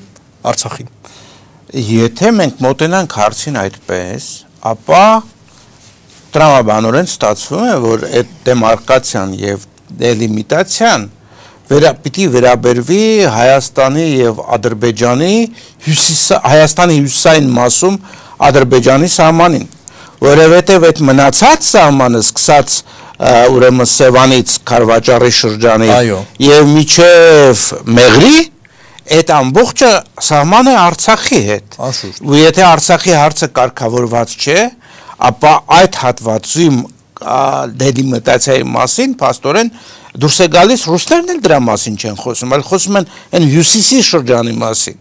Արցախին։ Եթե մենք մոտենանք հարցին այդպես, ապա տրամաբանորեն ստացվում է, որ այդ դեմարկացիան եւ դելիմիտացիան վերա պիտի վերաբերվի Հայաստանի եւ Ադրբեջանի հյուսիսի Հայաստանի հյուսիսային մասում Ադրբեջանի սահմանին, որովհետեւ այդ մնացած սահմանը սկսած ուրեմն Սևանից Քարվաճառի շրջանի եւ միջև Մեղրի այդ ամբողջը սահմանը Արցախի հետ։ Ու եթե Արցախի հարցը կարգավորված չէ, ապա այդ հատվածի դելիմիտացիայի մասին փաստորեն դուրս է գալիս ռուսներն էլ դրա մասին չեն խոսում, այլ խոսում են այն հյուսիսի շրջանի մասին։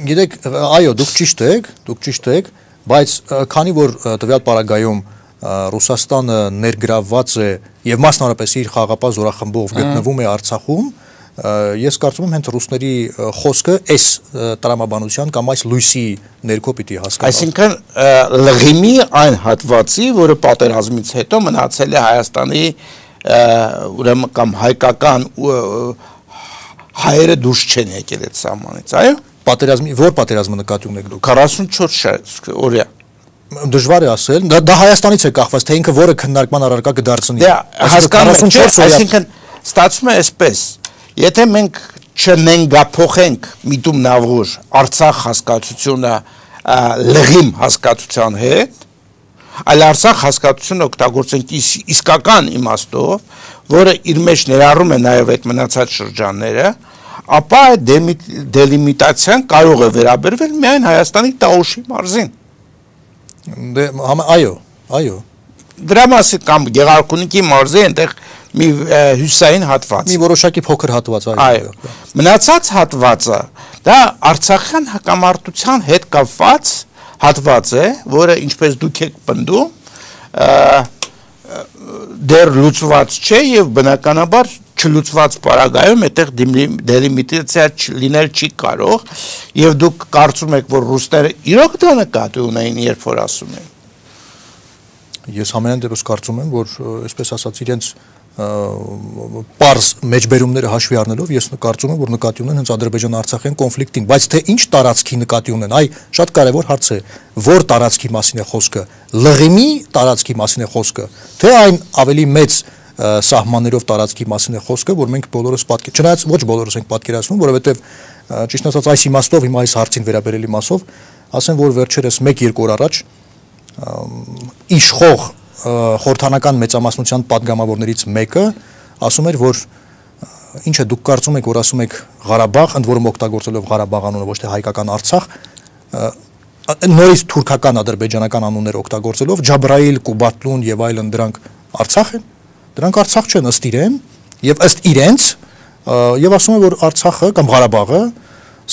Գիտեք, այո, դուք ճիշտ եք, դուք ճիշտ եք, բայց քանի որ տվյալ պարագայում Ռուսաստանը ներգրավված է եւ մասնավորապես իր խաղաղապահ զորախմբով գտնվում է Արցախում, ես կարծում եմ հենց ռուսների խոսքը այս տրամաբանության կամ այս լույսի ներքո պիտի հասկանալ։ Այսինքն լղիմի այն հատվածի, որը պատերազմից հետո մնացել է Հայաստանի ուրեմն կամ հայկական հայերը դուրս չեն եկել այդ սահմանից, այո։ Պատերազմի որ պատերազմը նկատի ունեք դուք։ քառասունչորս օրյա։ Դժվար է ասել, դա հայաստանից է կախված, թե ինքը որը քննարկման առարկա կդարձնի։ Դե հասկանում եք, այսինքն ստացվում է այսպես, եթե մենք չնենգափոխենք միտում նավուր Արցախ հասկացությունը լղիմ հասկացության հետ, այլ Արցախ հասկացությունը օգտագործենք իսկական իմաստով, որը իր մեջ ներառում է նաև այդ մնացած շրջանները, ապա այդ դելիմիտացիան կարող է վերաբերվել միայն Հայաստանի Տաուշի մարզին։ Դե այո, այո։ Դրա մասին կամ Գեղարքունիքի մարզի այնտեղ մի հյուսային հատված։ Մի որոշակի փոքր հատված, այո։ Մնացած հատվածը դա Արցախյան հակամարտության հետ կապված հատված է, որը ինչպես դուք եք պնդում, դեռ լուծված չէ եւ բնականաբար չլուծված պարագայում այդտեղ դելիմիտացիա լինել չի կարող եւ դուք կարծում եք, որ ռուսները իրոք դա նկատի ունեին, երբ որ ասում են։ Ես ամենայն դեպս կարծում եմ, որ այսպես ասած իրենց պարզ մեջբերումները հաշվի առնելով ես կարծում եմ, որ նկատի ունեն հենց Ադրբեջան-Արցախյան կոնֆլիկտին, բայց թե ինչ տարածքի նկատի ունեն, այ շատ կարևոր հարց է, որ տարածքի մասին է խոսքը, լղիմի տարածքի մասին է խոսքը, թե այն ավելի մեծ սահմաններով տարածքի մասին է խոսքը, որ մենք բոլորս պատկեր, չնայած ոչ բոլորս ենք պատկերացնում, որովհետև ճիշտ ասած այս իմաստով, հիմա այս հարցին վերաբերելի մասով, ասեմ, որ վերջերս մեկ-երկու օր առաջ իշխող խորհրդանական մեծամասնության падգամավորներից մեկը ասում էր, որ ինչ է դուք կարծում եք, որ ասում եք Ղարաբաղ, ընդ որում օգտագործելով Ղարաբաղ անունը, ոչ թե հայկական Արցախ, նորից թուրքական ադրբեջանական անուններ օգտագործելով Ջաբրայիլ, Կուբատլուն եւ այլն դրանք Արցախ են, դրանք Արցախ չեն ըստ իրեն եւ ըստ իրենց եւ ասում են, որ Արցախը կամ Ղարաբաղը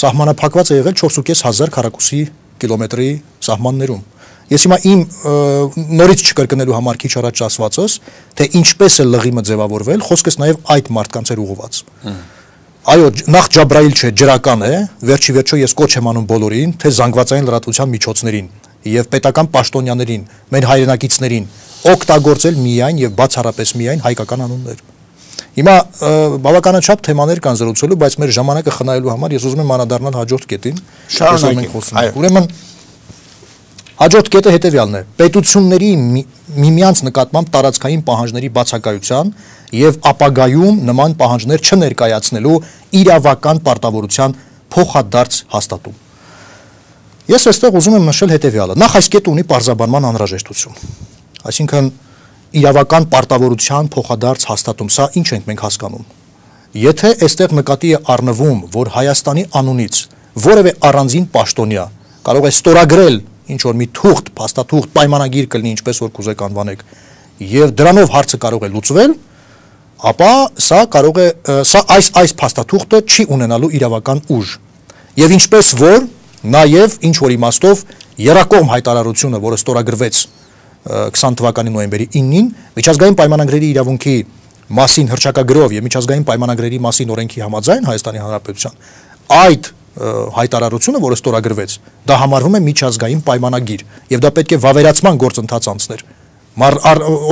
սահմանափակված է եղել չորս հազար պինսյոթ քառակուսի կիլոմետրի սահմաններում։ Ես հիմա իմ նորից չկրկնելու համար քիչ առաջ ասվածս, թե ինչպես է լղիմը ձևավորվել, խոսքս նաև այդ մարդկանց էր ուղղված։ Այո, նախ Ջաբրայիլ չէ, ջրական է, վերջի վերջո ես կոչ եմ անում բոլորին, թե զանգվածային լրատվության միջոցներին եւ պետական պաշտոնյաներին, մեր հայրենակիցներին օգտագործել միայն եւ բացառապես միայն հայկական անուններ։ Հիմա բավականաչափ թեմաներ կան զրուցելու, բայց մեր ժամանակը խնայելու համար ես ուզում եմ անդրադառնալ հաջորդ կետին։ Շարունակենք։ Ուրեմն հաջորդ կետը հետևյալն է. պետությունների միմյանց նկատմամբ տարածքային պահանջների բացակայության եւ ապագայում նման պահանջներ չներկայացնելու իրավական պարտավորության փոխադարձ հաստատում։ Ես այստեղ ուզում եմ նշել հետևյալը. նախ այս կետը ունի պարզաբանման անհրաժեշտություն։ Այսինքն իրավական պարտավորության փոխադարձ հաստատում, սա ինչ ենք մենք հասկանում։ Եթե այստեղ նկատի է առնվում, որ Հայաստանի անունից որևէ առանձին պաշտոնյա կարող է ստորագրել ինչ որ մի թուղթ, փաստաթուղթ, պայմանագիր կլինի, ինչպես որ կուզեք անվանեք, եւ դրանով հարցը կարող է լուծվել, ապա սա կարող է սա այս այս փաստաթուղթը չի ունենալու իրավական ուժ։ Եվ ինչպես որ նաեւ ինչ որ իմաստով երակողմ հայտարարությունը, որը ստորագրվեց քսան թվականի նոյեմբերի իննին, միջազգային պայմանագրերի իրավունքի մասին հռչակագրով եւ միջազգային պայմանագրերի մասին օրենքի համաձայն Հայաստանի Հանրապետության այդ հայտարարությունը, որը ստորագրվեց, դա համարվում է միջազգային պայմանագիր եւ դա պետք է վավերացման գործընթաց անցներ։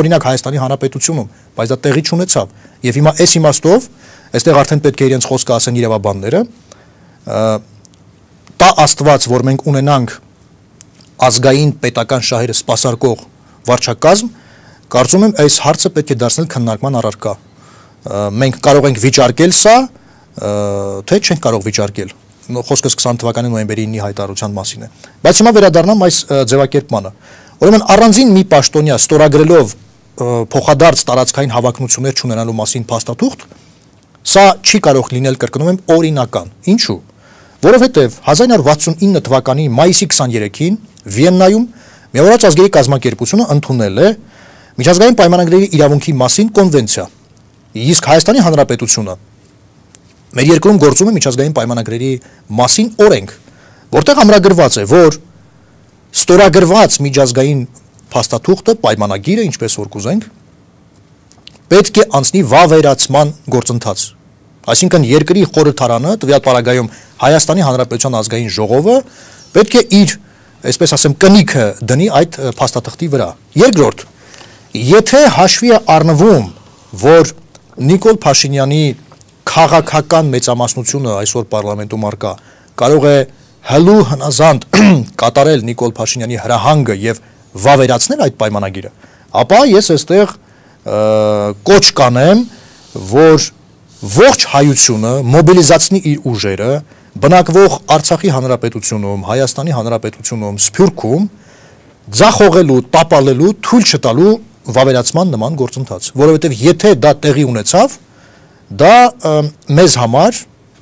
Օրինակ Հայաստանի Հանրապետությունում, բայց դա տեղի չունեցավ։ Եվ հիմա այս իմաստով, այստեղ արդեն պետք է իրենց խոսքը ասեն իրավաբանները, տա Աստված, որ մենք ունենանք ազգային պետական շահերը սպասարկող վարչակազմ, կարծում եմ այս հարցը պետք է դարձնել քննարկման առարկա։ Մենք կարող ենք վիճարկել սա, թե չենք կարող վիճարկել։ Խոսքս քսան թվականի նոյեմբերի իննի հայտարարության մասին է։ Բայց հիմա վերադառնամ այս ձևակերպմանը։ Ուրեմն առանձին մի պաշտոնյա ստորագրելով փոխադարձ տարածքային հավակնություններ չունենալու մասին փաստաթուղթ, սա չի կարող լինել, կրկնում եմ, օրինական։ Ինչու՞։ Որովհետև հազար ինը հարյուր վաթսունինը թվականի մայիսի քսաներեքին Վիեննայում Միավորված ազգերի կազմակերպությունը ընդունել է միջազգային պայմանագրերի իրավունքի մասին կոնվենցիա։ Իսկ Հայաստանի Հանրապետությունը մեր երկրում գործում է միջազգային պայմանագրերի մասին օրենք, որտեղ ամրագրված է, որ ստորագրված միջազգային փաստաթուղթը, պայմանագիրը, ինչպես որ կուզենք, պետք է անցնի վավերացման գործընթաց։ Այսինքն երկրի խորհրդարանը, տվյալ պարագայում Հայաստանի Հանրապետության ազգային ժողովը պետք է իր, այսպես ասեմ, կնիքը դնի այդ փաստաթղթի վրա։ Երկրորդ, եթե հաշվի է առնվում, որ Նիկոլ Փաշինյանի քաղաքական մեծամասնությունը այսօր պարլամենտում արկա կարող է հլու հնազանդ կատարել Նիկոլ Փաշինյանի հրահանգը եւ վավերացնել այդ պայմանագիրը, ապա ես այստեղ կոչ կանեմ, որ ողջ հայությունը մոբիլիզացնի իր ուժերը, բնակվող Արցախի հանրապետությունում, Հայաստանի հանրապետությունում, Սփյուռքում ձախողելու, տապալելու, թույլ չտալու վավերացման նման գործընթաց, որովհետև եթե դա տեղի ունեցավ, դա մեզ համար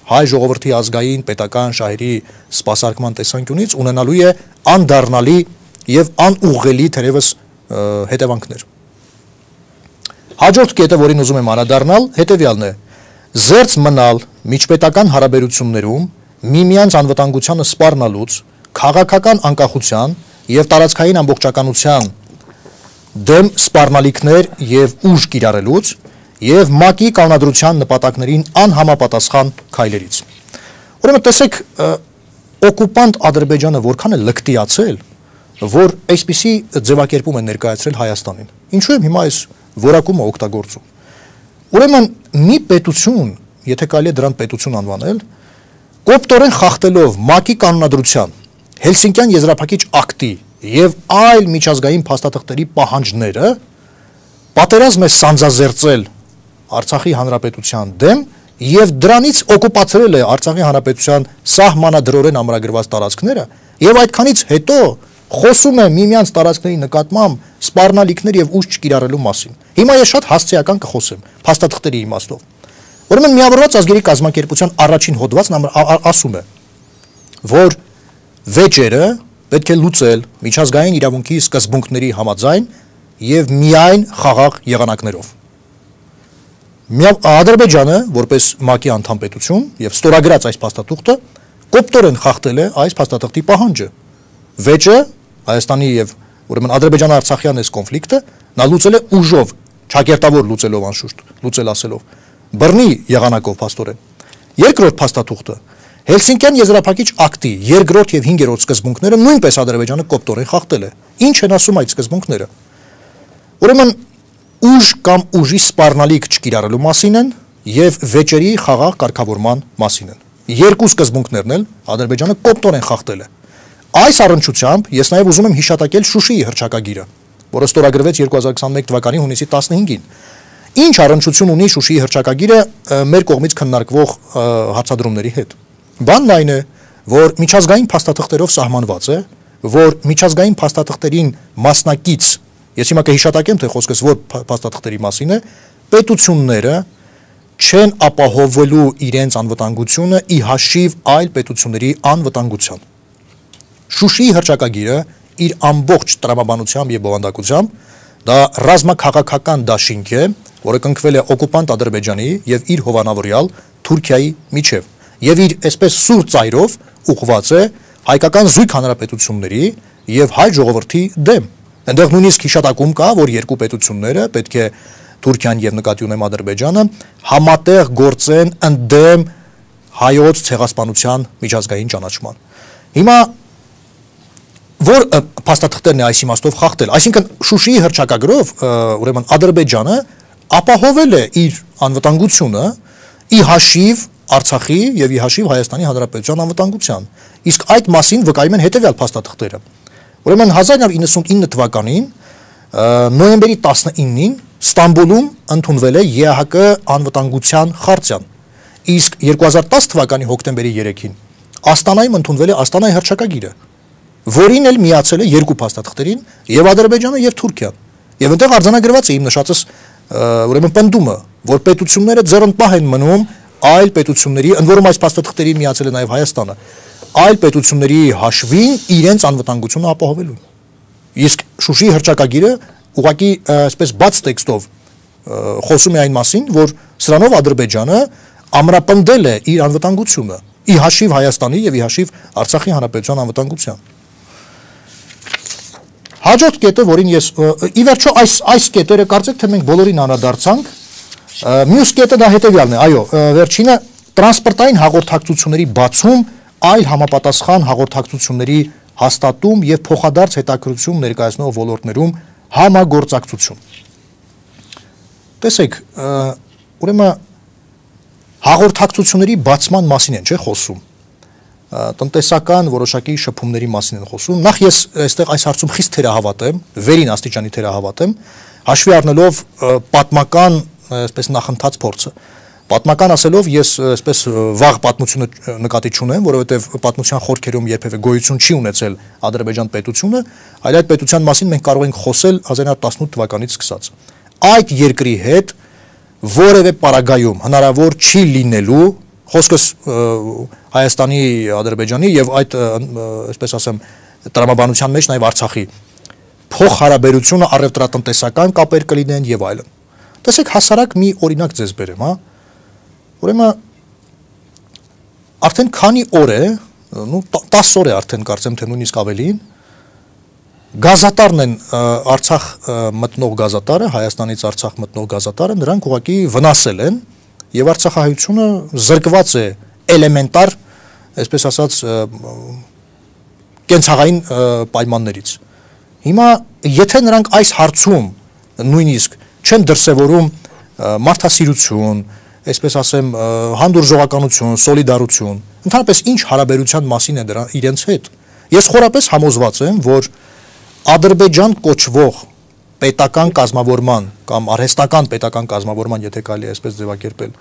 հայ ժողովրդի ազգային պետական շահերի սպասարկման տեսանկյունից ունենալու է անդառնալի եւ անուղղելի թերևս հետևանքներ։ Հաջորդ կետը, որին ուզում եմ անդրադառնալ, հետեւյալն է. զերծ մնալ միջպետական հարաբերություններում միմյանց անվտանգությանը սպառնալուց, քաղաքական անկախության եւ տարածքային ամբողջականության դեմ սպառնալիքներ եւ ուժ կիրառելուց եւ ՄԱԿ-ի կանոնադրության նպատակներին անհամապատասխան քայլերից։ Ուրեմն տեսեք, օկուպանտ Ադրբեջանը որքան է լկտիացել, որ այսպիսի ձևակերպում է ներկայացրել Հայաստանին։ Ինչու եմ հիմա այս որակումը օգտագործում։ Ուրեմն մի պետություն, եթե կարելի է դրան պետություն անվանել, կոպտորեն խախտելով ՄԱԿ-ի կանոնադրության, Հելսինկյան եզրափակիչ ակտի եւ այլ միջազգային փաստաթղթերի պահանջները, պատերազմ է սանձազերծել Արցախի հանրապետության դեմ եւ դրանից օկուպացրել է Արցախի հանրապետության սահմանադրորեն ամրագրված տարածքները եւ այդքանից հետո խոսում է միմյանց տարածքների նկատմամբ սպառնալիքներ եւ ուժ չկիրառելու մասին։ Հիմա ես շատ հասցեական կխոսեմ փաստաթղթերի իմաստով։ Ուրեմն Միավորված ազգերի կազմակերպության առաջին հոդվածն ասում է, որ վեճերը պետք է լուծել միջազգային իրավունքի սկզբունքների համաձայն եւ միայն խաղաղ եղանակներով։ Ադրբեջանը, որպես ՄԱԿ-ի անդամ պետություն եւ ստորագրած այս փաստաթուղթը, կոպտորեն խախտել է այս փաստաթղթի պահանջը։ Վեճը Հայաստանի եւ ուրեմն Ադրբեջան-Արցախյան այս կոնֆլիկտը նա լուծել է ուժով, ճակերտավոր լուծելով անշուշտ, լուծել ասելով, բռնի եղանակով փաստորեն։ Երկրորդ փաստաթուղթը Հելսինկյան եզրափակիչ ակտի երկրորդ եւ հինգերորդ սկզբունքները նույնպես Ադրբեջանը կոպտորեն խախտել է։ Ինչ են ասում այդ սկզբունքները։ Ուրեմն ուժ կամ ուժի սպառնալիք չկիրառելու մասին են եւ վեճերի խաղաղ կարգավորման մասին են։ Երկու սկզբունքներն էլ Ադրբեջանը կոպտորեն խախտել է։ Այս առնչությամբ ես նաեւ ուզում եմ հիշատակել Շուշիի հռչակագիրը, որը ստորագրվեց երկու հազար քսաներկու թվականի հունիսի տասնհինգին։ Ինչ առնչություն ունի Շուշիի հռչակագիրը մեր կողմից քննարկվող հարցադրումների հետ։ Բանն այն է, որ միջազգային փաստաթղթերով սահմանված է, որ միջազգային փաստաթղթերին մասնակից, ես հիմա կհիշատակեմ, թե խոսքս որ փաստաթղթերի մասին է, պետությունները չեն ապահովելու իրենց անվտանգությունը ի հաշիվ այլ պետությունների անվտանգության։ Շուշիի հռչակագիրը իր ամբողջ տրամաբանությամբ եւ բովանդակությամբ դա ռազմաքաղաքական դաշինք է, որը կնքվել է օկուպանտ Ադրբեջանի եւ իր հովանավորյալ Թուրքիայի միջև եւ իր այսպես սուր ծայրով ուղղված է հայկական զույգ հանրապետությունների եւ հայ ժողովրդի դեմ։ Այնտեղ նույնիսկ հիշատակում կա, որ երկու պետությունները պետք է Թուրքիան եւ նկատի ունեմ Ադրբեջանը համատեղ գործեն ընդդեմ հայոց ցեղասպանության միջազգային ճանաչման։ Հիմա որ փաստաթղթերն է այս իմաստով խախտել, այսինքն Շուշիի հռչակագրով ուրեմն Ադրբեջանը ապահովել է իր անվտանգությունը ի հաշիվ Արցախի եւ ի հաշիվ Հայաստանի Հանրապետության անվտանգության։ Իսկ այդ մասին վկայում են հետեւյալ փաստաթղթերը։ Ուրեմն հազար նավը իննսունինը թվականին նոյեմբերի տասնինին Ստամբուլում ընդունվել է ԵԱՀԿ անվտանգության խարտիան։ Իսկ երկու հազար տասը թվականի հոկտեմբերի երեքին Աստանայում ընդունվել է Աստանայի հռչակագիրը, որին էլ միացել է երկու փաստաթղթերին եւ Ադրբեջանը եւ Թուրքիան։ Եվ այնտեղ արձանագրված է իմ նշածս ուրեմն պնդումը, որ պետությունները ձեռնպահ են մնում այլ պետությունների, ընդ որում այս փաստաթղթերին միացել է նաեւ Հայաստանը, այլ պետությունների հաշվին իրենց անվտանգությունը ապահովելու։ Իսկ Շուշիի հռչակագիրը ուղղակի այսպես բաց տեքստով խոսում է այն մասին, որ սրանով Ադրբեջանը ամրապնդել է իր անվտանգությունը ի հաշիվ Հայաստանի եւ ի հաշիվ Արցախի հանրապետության անվտանգության։ Հաջորդ կետը, որին ես ի վերջո այս այս կետերը կարծեք թե մենք բոլորին անդրադարձանք, մյուս կետը դա հետեւյալն է, այո, վերջինը տրանսպորտային հաղորդակցությունների բացում, այլ համապատասխան հաղորդակցությունների հաստատում եւ փոխադարձ հետաքրություն ներկայացնող ոլորտներում համագործակցություն։ Տեսեք, ուրեմն հաղորդակցությունների բացման մասին են, չէ՞ խոսում։ Տնտեսական որոշակի շփումների մասին են խոսում։ Նախ ես այստեղ այս հարցում խիստ թերահավատ եմ, վերին աստիճանի թերահավատ եմ, հաշվի առնելով պատմական այսպես նախընթաց փորձը, Պատմական ասելով ես այսպես վաղ պատմությունը նկատի չունեմ, որովհետև պատմության խորքերում երբևէ գոյություն չի ունեցել Ադրբեջան պետությունը, այլ այդ պետության մասին մենք կարող ենք խոսել հազար նույնսուն տասնութ թվականից սկսած։ Այդ երկրի հետ որևէ պարագայում հնարավոր չի լինելու խոսքս Հայաստանի, Ադրբեջանի եւ այդ այսպես ասեմ տրամաբանության մեջ նաեւ Արցախի փոխհարաբերությունը առևտրատնտեսական կապեր կլինեն եւ այլն։ Տեսեք հասարակ մի օրինակ ձեզ բերեմ, հա։ Ուրեմն արդեն քանի օր է, նու տասը օր է արդեն կարծեմ թե նույնիսկ ավելին, գազատարն են Արցախ մտնող գազատարը, Հայաստանից Արցախ մտնող գազատարը, նրանք ուղղակի վնասել են եւ Արցախահայությունը զրկված է էլեմենտար, այսպես ասած, կենցաղային պայմաններից։ Հիմա եթե նրանք այս հարցում նույնիսկ չեն դրսևորում մարդասիրություն, այսպես ասեմ, հանդուրժողականություն, սոլիդարություն, ընդհանրապես ինչ հարաբերության մասին է դրա իրենց հետ։ Ես խորապես համոզված եմ, որ Ադրբեջան կոչվող պետական կազմավորման կամ արհեստական պետական կազմավորման, եթե կարելի է այսպես ձևակերպել,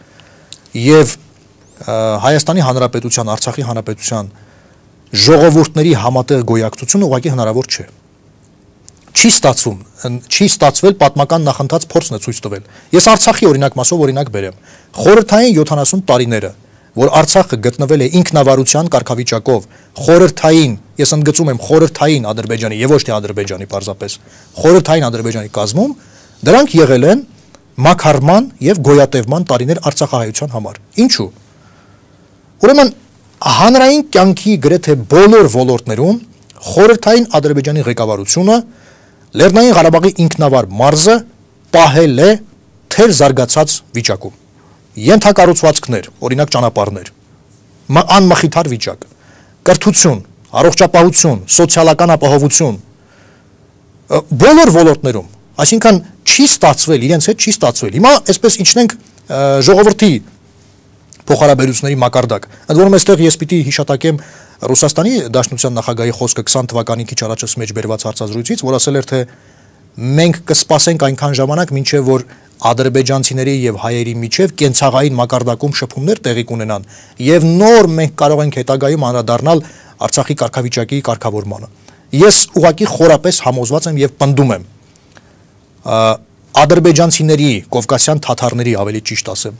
եւ Հայաստանի Հանրապետության, Արցախի Հանրապետության ժողովուրդների համատեղ գոյակցությունը ուղղակի հնարավոր չէ։ Չի ստացվում, չի ստացվել պատմական նախընթաց փորձն է ցույց տվել։ Ես Արցախի օրինակ մասով օրինակ բերեմ։ Խորհրդային յոթանասուն տարիները, որ Արցախը գտնվել է ինքնավարության կարգավիճակով, խորհրդային, ես ընդգծում եմ խորհրդային Ադրբեջանի եւ ոչ թե Ադրբեջանի պարզապես, խորհրդային Ադրբեջանի կազմում, դրանք եղել են մաքարման եւ գոյատևման տարիներ Արցախահայության համար։ Ինչու՞։ Ուրեմն հանրային կյանքի գրեթե բոլոր ոլորտներում խորհրդային Ադրբեջանի ղեկավարությունը Լեռնային Ղարաբաղի ինքնավար մարզը պահել է թեր զարգացած վիճակում։ Ենթակառուցվածքներ, օրինակ ճանապարհներ, անմխիթար վիճակ, կրթություն, առողջապահություն, սոցիալական ապահովություն, բոլոր ոլորտներում, այսինքն չի ստացվել, իրենց հետ չի ստացվել։ Հիմա այսպես իջնենք ժողովրդի փոխհարաբերությունների մակարդակ։ Ընդ որում այստեղ ես պիտի հիշատակեմ Ռուսաստանի Դաշնության նախագահի խոսքը քսան թվականի քիչ առաջս մեջ բերված հարցազրույցից, որ ասել էր, թե մենք կսպասենք այնքան ժամանակ, մինչև որ ադրբեջանցիների եւ հայերի միջև կենցաղային մակարդակում շփումներ տեղի կունենան եւ նոր մենք կարող ենք հետագայում անդրադառնալ Արցախի կարգավիճակի կարգավորմանը։ Ես ուղղակի խորապես համոզված եմ եւ պնդում եմ ադրբեջանցիների, կովկասյան թաթարների ավելի ճիշտ ասեմ,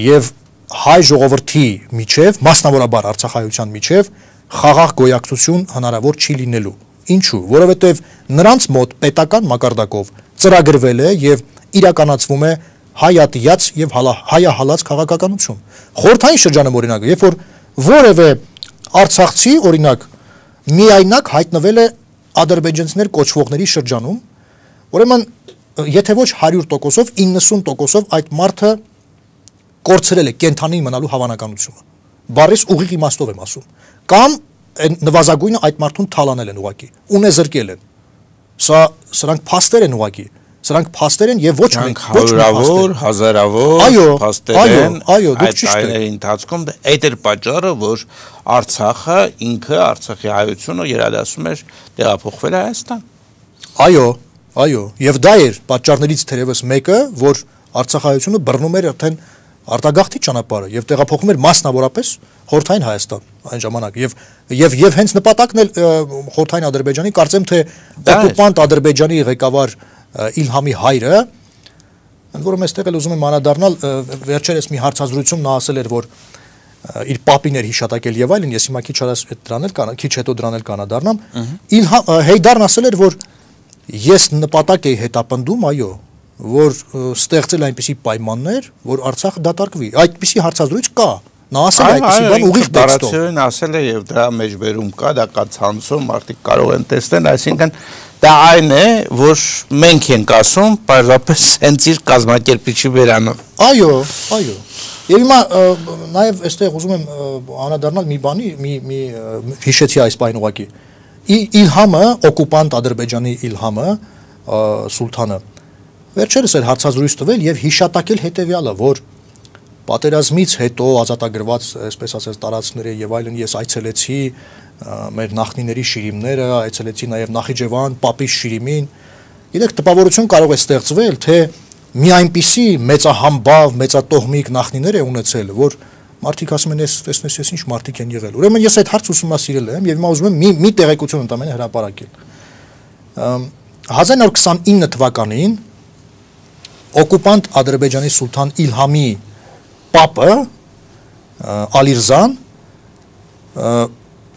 եւ հայ ժողովրդի միջև, մասնավորաբար Արցախայության միջև խաղաղ գոյակցություն հնարավոր չի լինելու։ Ինչու՞, որովհետև նրանց մոտ պետական մակարդակով ծրագրվել է եւ իրականացվում է հայատյաց եւ հայահալած քաղաքականություն։ Խորհրդային շրջանում օրինակ, երբ որ որևէ արցախցի օրինակ միայնակ հայտնվել է ադրբեջանցիներ կոչվողների շրջանում, ուրեմն եթե ոչ հարյուր տոկոսով, իննսուն տոկոսով այդ մարդը կորցրել է կենթանի մնալու հավանականությունը։ Բառից ուղիղ իմաստով եմ ասում։ Կամ նվազագույնը այդ մարդուն թալանել են ուղակի, ունեզրկել են։ Սա սրանք փաստեր են ուղակի, սրանք փաստեր են եւ ոչ մեկ ոչ հարյուրավոր, հազարավոր փաստեր են։ Այո, դուք ճիշտ եք։ Այդ ընթացքում այդ էր պատճառը, որ Արցախը ինքը Արցախի հայությունը երադասում էր տեղափոխվել Հայաստան։ Այո, այո, եւ դա էր պատճառներից թերևս մեկը, որ Արցախայությունը բռնում էր արդեն արտագաղթի ճանապարհը եւ տեղափոխում էր մասնավորապես խորհրդային Հայաստան այն ժամանակ եւ եւ եւ հենց նպատակն էլ խորհրդային Ադրբեջանի կարծեմ թե օկուպանտ Ադրբեջանի ղեկավար Իլհամի հայրը, ընդ որում այստեղ էլ ուզում եմ անդրադառնալ, վերջերս մի հարցազրույցում նա ասել էր, որ իր պապին էր հիշատակել եւ այլն, ես հիմա քիչ դրան էլ կանա, քիչ հետո դրան էլ կանադառնամ, Իլհամ Հեյդարն ասել էր, որ ես նպատակ էի հետապնդում, այո, որ ստեղծել այնպիսի պայմաններ, որ Արցախը դատարկվի։ Այդպիսի հարցազրույց կա։ Նա ասել է այդպիսի բան ուղիղ տեքստով։ Տարածորեն ասել է եւ դրա մեջ վերում կա, դա կա ցանցում, մարդիկ կարող են տեսնել, այսինքն դա այն է, որ մենք ենք ասում, պարզապես հենց իր կազմակերպիչի վերանով։ Այո, այո։ Եվ հիմա նաեւ այստեղ ուզում եմ անդրադառնալ մի բանի, մի մի հիշեցի այս բան ուղակի։ Իլհամը, օկուպանտ Ադրբեջանի Իլհամը, սուլթանը վերջերս էր հարցազրույց տվել եւ հիշատակել հետեւյալը, որ պատերազմից հետո ազատագրված, այսպես ասած, տարածքները եւ այլն ես այցելեցի մեր նախնիների շիրիմները, այցելեցի նաեւ Նախիջևան, Պապի շիրիմին։ Գիտեք, տպավորություն կարող է ստեղծվել, թե մի այնպիսի մեծահամբավ, մեծատոհմիկ նախնիներ է ունեցել, որ մարդիկ ասում են, ես տեսնես, ես ինչ մարդիկ են եղել։ Ուրեմն ես այդ հարցը ուսումնասիրել եմ եւ հիմա ուզում եմ մի մի տեղեկություն ընդամենը հրապարակել։ հազար նոր քսանինը թվականին օկուպանտ Ադրբեջանի սուլթան Իլհամի պապը Ալիրզան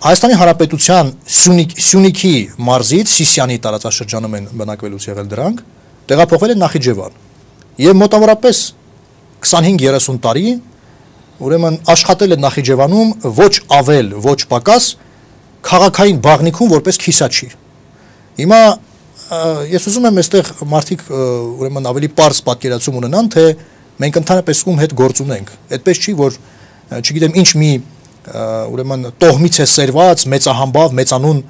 Հայաստանի Հանրապետության Սյունիքի մարզից Սիսիանի տարածաշրջանում են բնակվելուց եղել դրանք, տեղափոխվել են Նախիջևան եւ մոտավորապես քսանհինգ երեսուն տարի ուրեմն աշխատել է Նախիջևանում ոչ ավել, ոչ պակաս քաղաքային բաղնիքում որպես քիսաչի։ Հիմա ես ուզում եմ այստեղ մարդիկ ուրեմն ավելի པարզ պատկերացում ունենան, թե մենք ընդհանրապես ում հետ գործ ունենք։ Այդպես չի, որ չգիտեմ ինչ մի ուրեմն տոհմից է սերված մեծահամբավ մեծանուն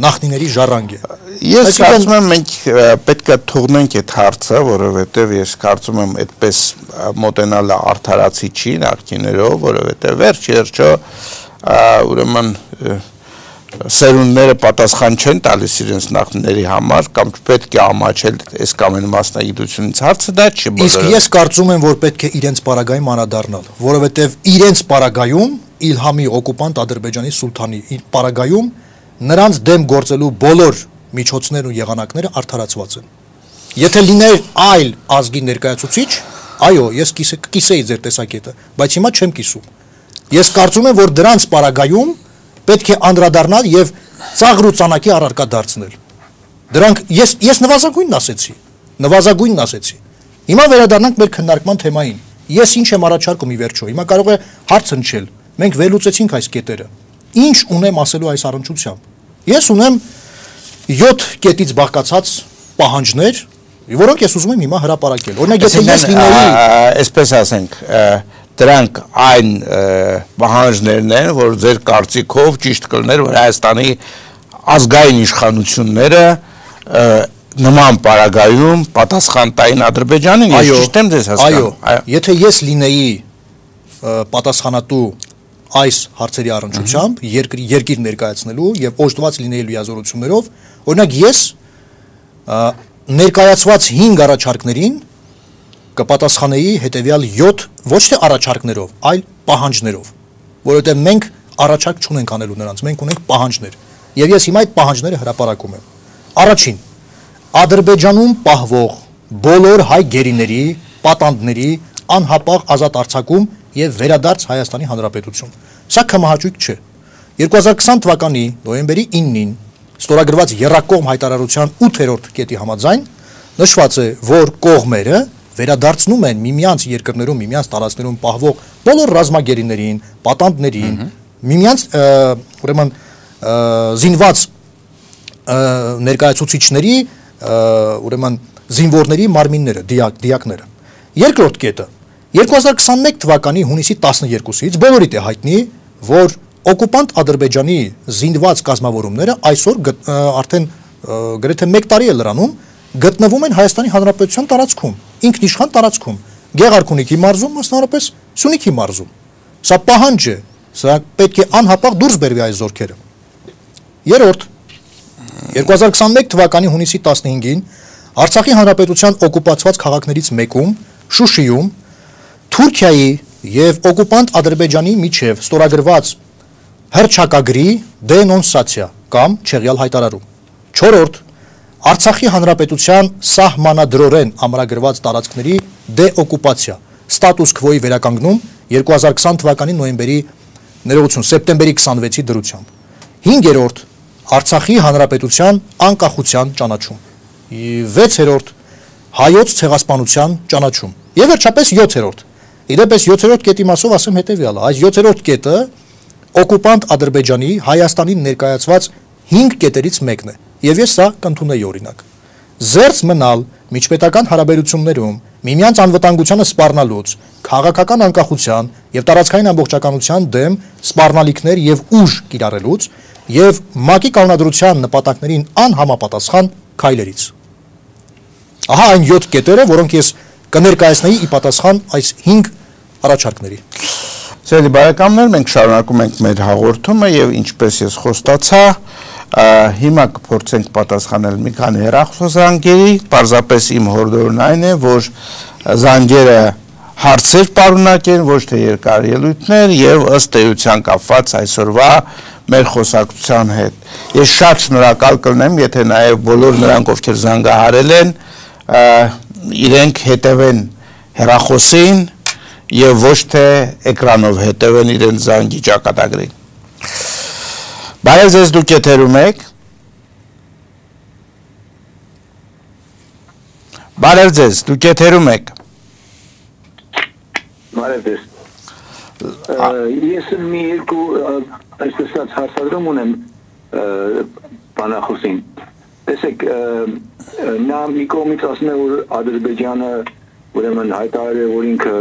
նախնիների ժառանգ է։ Ես կարծում եմ մենք պետք է թողնենք այդ հարցը, որովհետև ես կարծում եմ այդպես մոտենալը արդարացի չի նախկիներով, որովհետև վերջ երջո ուրեմն սերունդները պատասխան չեն տալիս իրենց նախնիների համար կամ պետք է ամաչել այս կամ այն մասնագիտությունից հարցը դա չի բոլորը։ Իսկ ես կարծում եմ, որ պետք է իրենց պարագայում անդրադառնալ, որովհետև իրենց պարագայում Իլհամի օկուպանտ Ադրբեջանի սուլթանի պարագայում նրանց դեմ գործելու բոլոր միջոցներն ու եղանակները արդարացված են։ Եթե լիներ այլ ազգի ներկայացուցիչ, այո, ես կիսեի ձեր տեսակետը, բայց հիմա չեմ կիսում։ Ես կարծում եմ, որ դրանց պարագայում պետք է անդրադառնալ եւ ծաղր ու ծանակի առարկա դարձնել։ Դրանք ես ես նվազագույնն ասեցի, նվազագույնն ասեցի։ Հիմա վերադառնանք մեր քննարկման թեմային։ Ես ինչ եմ առաջարկում ի վերջո։ Հիմա կարող է հարց հնչել։ Մենք վերլուծեցինք այս կետերը։ Ինչ ունեմ ասելու այս առնչությամբ։ Ես ունեմ յոթ կետից բաղկացած պահանջներ, որոնք ես ուզում եմ հիմա հրապարակել։ Օրինակ, եթե ես լինեի, այսպես ասենք, դրանք այն պահանջներն են, որ ձեր կարծիքով ճիշտ կլներ, որ Հայաստանի ազգային իշխանությունները նման պարագայում պատասխան տային Ադրբեջանին, ես ճիշտ եմ ձեզ հասկանում։ Այո, եթե ես լինեի պատասխանատու այս հարցերի առնչությամբ երկիր ներկայացնելու եւ օժտված լինեի լիազորություններով, օրինակ ես ներկայացված հինգ առաջարկներին կպատասխանեի հետեւյալ յոթ ոչ թե առաջարկներով, այլ պահանջներով, որովհետեւ մենք առաջարկ չունենք անելու նրանց, մենք ունենք պահանջներ։ Եվ ես հիմա այդ պահանջները հրապարակում եմ։ Առաջին, Ադրբեջանում պահվող բոլոր հայ գերիների, պատանդների անհապաղ ազատ արձակում եւ վերադարձ Հայաստանի Հանրապետություն։ Սա կամահաճույք չէ։ երկու հազար քսան թվականի նոյեմբերի իննին ստորագրված եռակողմ հայտարարության ութերորդ կետի համաձայն նշված է, որ կողմերը վերադարձնում են միմյանց երկրներում, միմյանց տարածքներում պահվող բոլոր ռազմագերիներին, պատանդներին, միմյանց ուրեմն զինված ներկայացուցիչների, ուրեմն զինվորների մարմինները, դիակները։ Երկրորդ կետը երկու հազար քսանմեկ թվականի հունիսի տասներկուսից բոլորիդ է հայտնի, որ օկուպանտ Ադրբեջանի զինված կազմավորումները այսօր արդեն գրեթե մեկ տարի է լրանում գտնվում են Հայաստանի Հանրապետության տարածքում, ինքնիշխան տարածքում, Գեղարքունիքի մարզում, մասնավորապես Սյունիքի մարզում։ Սա պահանջ է, սա պետք է անհապաղ դուրս բերվի այս զորքերը։ Երրորդ, երկու հազար քսանմեկ թվականի հունիսի տասնհինգին Արցախի Հանրապետության օկուպացված քաղաքներից մեկում, Շուշիում, Թուրքիայի եւ օկուպանտ Ադրբեջանի միջև ստորագրված հռչակագրի դենոնսացիա կամ չեղյալ հայտարարում։ Չորրորդ, Արցախի Հանրապետության սահմանադրորեն ամրագրված տարածքների դեօկուպացիա, ստատուս քվոյի վերականգնում երկու հազար քսան թվականի նոյեմբերի ներողություն, սեպտեմբերի քսանվեցի դրությամբ։ Հինգերորդ, Արցախի Հանրապետության անկախության ճանաչում։ Վեցերորդ, հայոց ցեղասպանության ճանաչում։ Եվ վերջապես յոթերորդ։ Իդեպս յոթերորդ կետի մասով ասեմ հետևյալը, այս յոթերորդ կետը օկուպանտ Ադրբեջանի Հայաստանին ներկայացված հինգ կետերից մեկն է, եւ ես սա կընդունեի օրինակ։ Զերծ մնալ միջպետական հարաբերություններում միմյանց անվտանգությանը սպառնալուց, քաղաքական անկախության եւ տարածքային ամբողջականության դեմ սպառնալիքներ եւ ուժ կիրառելուց եւ ՄԱԿ-ի կանոնադրության նպատակներին անհամապատասխան քայլերից։ Ահա այն յոթ կետերը, որոնք ես կներկայացնեի ի պատասխան այս հինգ առաջարկների։ Սիրելի բարեկամներ, մենք շարունակում ենք մեր հաղորդումը եւ ինչպես ես խոստացա, Հիմա կփորձենք պատասխանել մի քանի հեռախոսազանգերի, պարզապես իմ հորդորն այն է, որ զանգերը հարցեր պարունակեն, ոչ թե երկար ելույթներ եւ ըստ էության կապված այսօրվա մեր խոսակցության հետ։ Ես շատ շնորհակալ կլինեմ, եթե նաեւ բոլոր նրանք, ովքեր զանգահարել են, իրենք հետևեն հեռախոսին եւ ոչ թե էկրանով հետևեն իրենց զանգի ճակատագրին։ Բարև ձեզ, դուք եթերում եք։ Բարև ձեզ, դուք եթերում եք։ Բարև ձեզ։ Ես մի երկու այսպես հարցադրում ունեմ բանախոսին։ Տեսեք, նա մի կողմից ասում է, որ Ադրբեջանը ուրեմն հայտարարել է, որ ինքը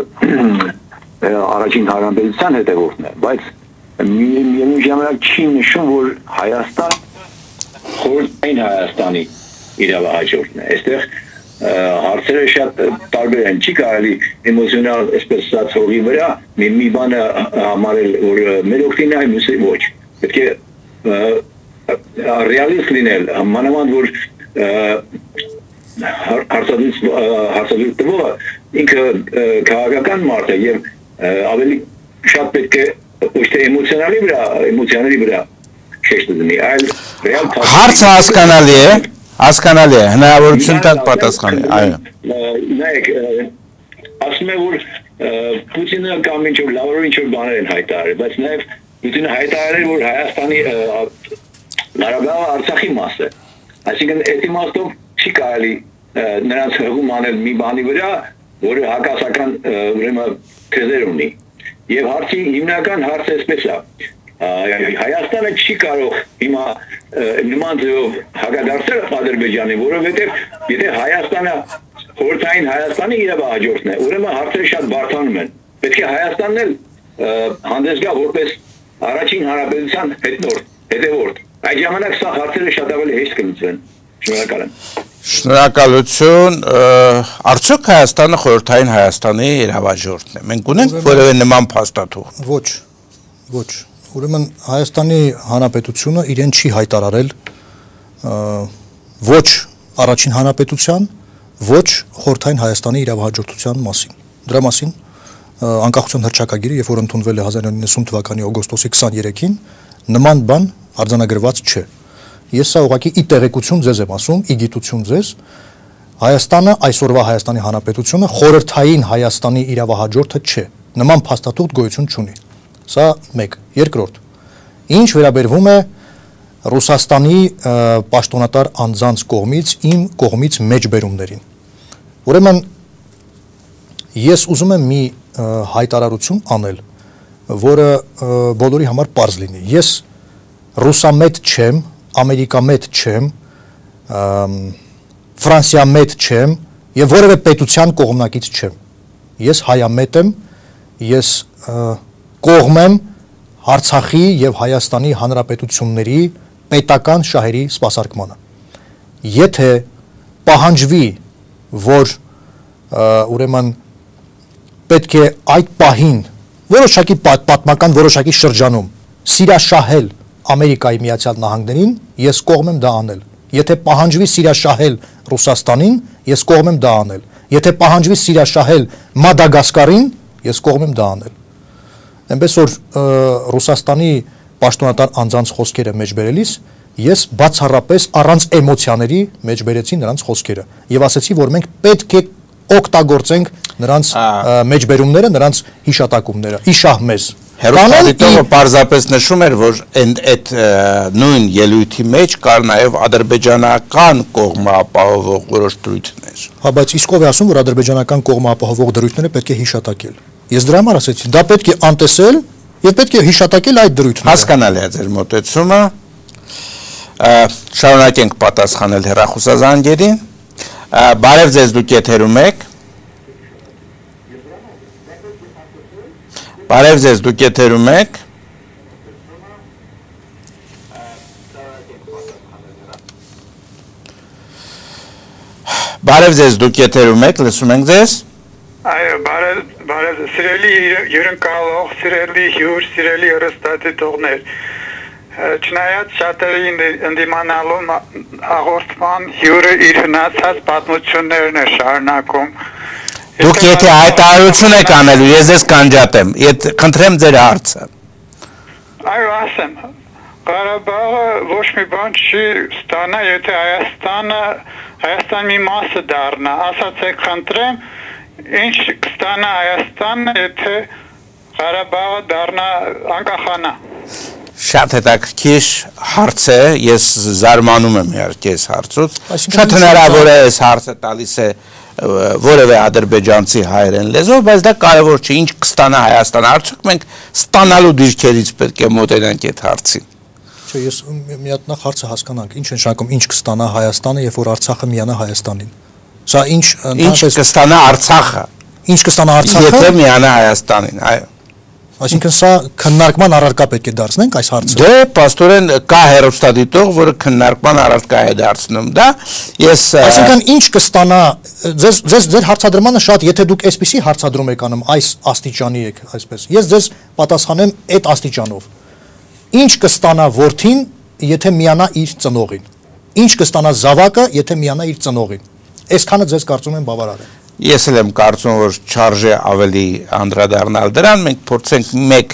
առաջին հարաբերության հետևորդն է, բայց միևնույն ժամանակ չի նշում, որ Հայաստան խորհրդային Հայաստանի իրավահաջորդն է։ Այստեղ հարցերը շատ տարբեր են, չի կարելի էմոցիոնալ այսպես ասած հողի վրա մի բանը համարել, որ մեր օգտին է, մյուսը ոչ։ Պետք է ռեալիստ լինել, մանավանդ որ հարցադրույց տվողը ինքը քաղաքական մարդ է եւ ավելի շատ պետք է ոչ թե էմոցիոնալի վրա, էմոցիաների վրա շեշտը դնի, այլ ռեալ հարցը հասկանալի է, հասկանալի է, հնարավորություն տալ պատասխանի, այո։ Նայեք, ասում է, որ Պուտինը կամ ինչ-որ լավորով ինչ-որ բաներ են հայտարարել, բայց նաև Պուտինը հայտարարել, որ Հայաստանի Ղարաբաղը Արցախի մաս է։ Այսինքն այդ իմաստով չի կարելի նրանց հղում անել մի բանի վրա, որը հակասական ուրեմն թեզեր ունի։ Եվ հարցի հիմնական հարցը այսպես է։ Հայաստանը չի կարող հիմա նման ձևով հակադարձել Ադրբեջանին, որովհետև եթե Հայաստանը խորհրդային Հայաստանի իրավահաջորդն է, ուրեմն հարցերը շատ բարդանում են։ Պետք է Հայաստանն էլ հանդես գա որպես առաջին հանրապետության հետնորդ, հետևորդ։ Այդ ժամանակ սա հարցերը շատ ավելի հեշտ կլուծվեն։ Շնորհակալ եմ։ Շնորհակալություն, արդյոք Հայաստանը խորհրդային Հայաստանի իրավահաջորդն է։ Մենք ունենք որևէ նման փաստաթուղթ։ Ոչ, ոչ։ Ուրեմն Հայաստանի Հանրապետությունը իրեն չի հայտարարել ոչ առաջին հանրապետության, ոչ խորհրդային Հայաստանի իրավահաջորդության մասին։ Դրա մասին անկախության հռչակագիրը, երբ որ ընդունվել է հազար իննսուն թվականի օգոստոսի քսաներեքին, նման բան արձանագրված չէ։ Ես սա ուղղակի ի տեղեկություն ձեզ եմ ասում, ի գիտություն ձեզ, Հայաստանը, այսօրվա Հայաստանի Հանրապետությունը խորհրդային Հայաստանի իրավահաջորդը չէ։ Նման փաստաթուղթ գոյություն չունի։ Սա մեկ, երկրորդ։ Ինչ վերաբերվում է Ռուսաստանի պաշտոնատար անձանց կողմից իմ կողմից մեջբերումներին։ Ուրեմն ես ուզում եմ մի հայտարարություն անել, որը բոլորի համար պարզ լինի։ Ես ռուսամետ չեմ, ամերիկամետ չեմ, ֆրանսիամետ չեմ եւ որևէ պետության կողմնակից չեմ։ Ես հայամետ եմ, ես կողմ եմ Արցախի եւ Հայաստանի հանրապետությունների պետական շահերի սպասարկմանը։ Եթե պահանջվի, որ ուրեմն պետք է այդ պահին որոշակի պատմական որոշակի շրջանում սիրաշահել Ամերիկայի Միացյալ Նահանգներին, ես կողմ եմ դա անել։ Եթե պահանջվի սիրաշահել Ռուսաստանին, ես կողմ եմ դա անել։ Եթե պահանջվի սիրաշահել Մադագասկարին, ես կողմ եմ դա անել։ Այնպես որ Ռուսաստանի պաշտոնատար անձանց խոսքերը մեջբերելիս ես բացառապես առանց էմոցիաների մեջբերեցի նրանց խոսքերը եւ ասացի, որ մենք պետք է օգտագործենք նրանց մեջբերումները, նրանց հիշատակումները, իշահ մեզ։ Հերոստատիտողը պարզապես նշում էր, որ այդ նույն ելույթի մեջ կար նաև ադրբեջանական կողմը ապահովող որոշ դրույթներ։ Հա, բայց իսկ ով է ասում, որ ադրբեջանական կողմը ապահովող դրույթները պետք է հիշատակել։ Ես դրա համար ասեցի, դա պետք է անտեսել եւ պետք է հիշատակել այդ դրույթները։ Հասկանալի է ձեր մոտեցումը։ Շարունակենք պատասխանել հեռախոսազանգերին։ Բարև ձեզ, դուք եթերում եք։ Բարև ձեզ, դուք եթերում եք։ Բարև ձեզ, դուք եթերում եք, լսում ենք ձեզ։ Այո, բարև, բարև, սիրելի հյուրընկալող, սիրելի հյուր, սիրելի հեռուստադիտողներ։ Չնայած շատերի ընդդիմանալու հաղորդման հյուրը իր հնացած պատմություններն է շարունակում։ Դուք եթե հայտարարություն եք անելու, ես ձեզ կանջատեմ, խնդրեմ ձեր հարցը։ Այո, ասեմ, Ղարաբաղը ոչ մի բան չի ստանա, եթե Հայաստանը, Հայաստան մի մասը դառնա, ասացեք խնդրեմ, ինչ կստանա Հայաստանը, եթե Ղարաբաղը դառնա անկախանա։ Շատ հետաքրքիր հարց է, ես զարմանում եմ իհարկե այս հարցուց, շատ հնարավոր է այս հարցը տալիս է որևէ ադրբեջանցի հայերեն լեզվով, բայց դա կարևոր չէ, ինչ կստանա Հայաստանը, արդյոք մենք ստանալու դիրքերից պետք է մոտենանք այդ հարցին։ Չէ, ես մի հատ նախ հարցը հասկանանք, ինչ նշանակում ինչ կստանա Հայաստանը, երբ որ Արցախը միանա Հայաստանին։ Սա ինչ ինչ կստանա Արցախը։ Ինչ կստանա Արցախը։ Եթե միանա Հայաստանին, այո։ Այսինքն սա քննարկման առարկա պետք է դարձնենք այս հարցը։ Դե, պաստորեն կա հերոստատիտող, որը քննարկման առարկա է դարձնում դա։ Ես Այսինքն ինչ կստանա, ձեզ ձեզ ձեր հարցադրմանը շատ, եթե դուք այսպեսի հարցադրում եք անում, այս աստիճանի եք, այսպես։ Ես ձեզ պատասխանեմ այդ աստիճանով։ Ինչ կստանա որդին, եթե միանա իր ծնողին։ Ինչ կստանա զավակը, եթե միանա իր ծնողին։ Այսքանը ձեզ կարծում եմ բավարար է։ Ես էլ եմ կարծում, որ չարժե ավելի անդրադառնալ դրան, մենք փորձենք մեկ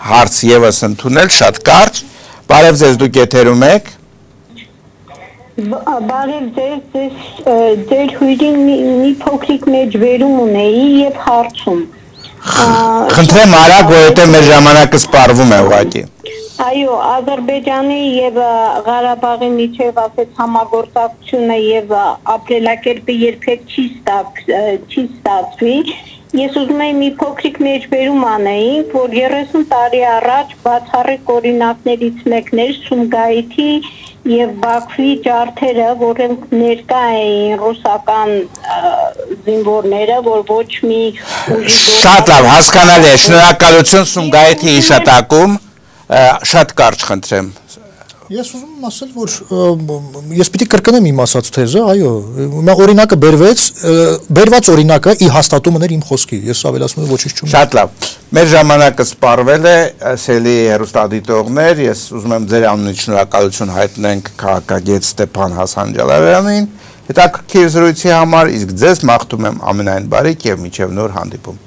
հարց եւս ընդունել, շատ կարճ։ Բարև ձեզ, դուք եթերում եք։ Բարև ձեզ, ձեր հյուրին մի փոքրիկ մեջբերում ունեի եւ հարցում։ Խնդրեմ արագ, որովհետեւ մեր ժամանակը սպառվում է ուղղակի։ Այո, Ադրբեջանի եւ Ղարաբաղի միջև ասած համագործակցությունը եւ ապրելակերպը երբեք չի չի ստացվի։ Ես ուզում եմ մի փոքրիկ մեջբերում անեի, որ երեսուն տարի առաջ բացառիկ օրինակներից մեկն էր Սումգայիթի եւ Բաքվի ջարդերը, որոնք ներկա էին ռուսական զինվորները, որ ոչ մի ուժի Շատ լավ, հասկանալի է, շնորհակալություն Սումգայիթի հիշատակում։ Շատ կարճ խնդրեմ։ Ես ուզում եմ ասել, որ ես պիտի կրկնեմ իմ ասած թեզը, այո, հիմա օրինակը բերվեց, բերված օրինակը ի հաստատումն էր իմ խոսքի, ես ավելացնում եմ ոչինչ չունեմ։ Շատ լավ։ Մեր ժամանակը սպառվել է, սելի հեռուստադիտողներ, ես ուզում եմ ձեր անունից շնորհակալություն հայտնենք քաղաքագետ Ստեփան Հասանջալավյանին, հետաքրքիր զրույցի համար, իսկ ձեզ մաղթում եմ ամենայն բարիք եւ մինչեւ նոր հանդիպում։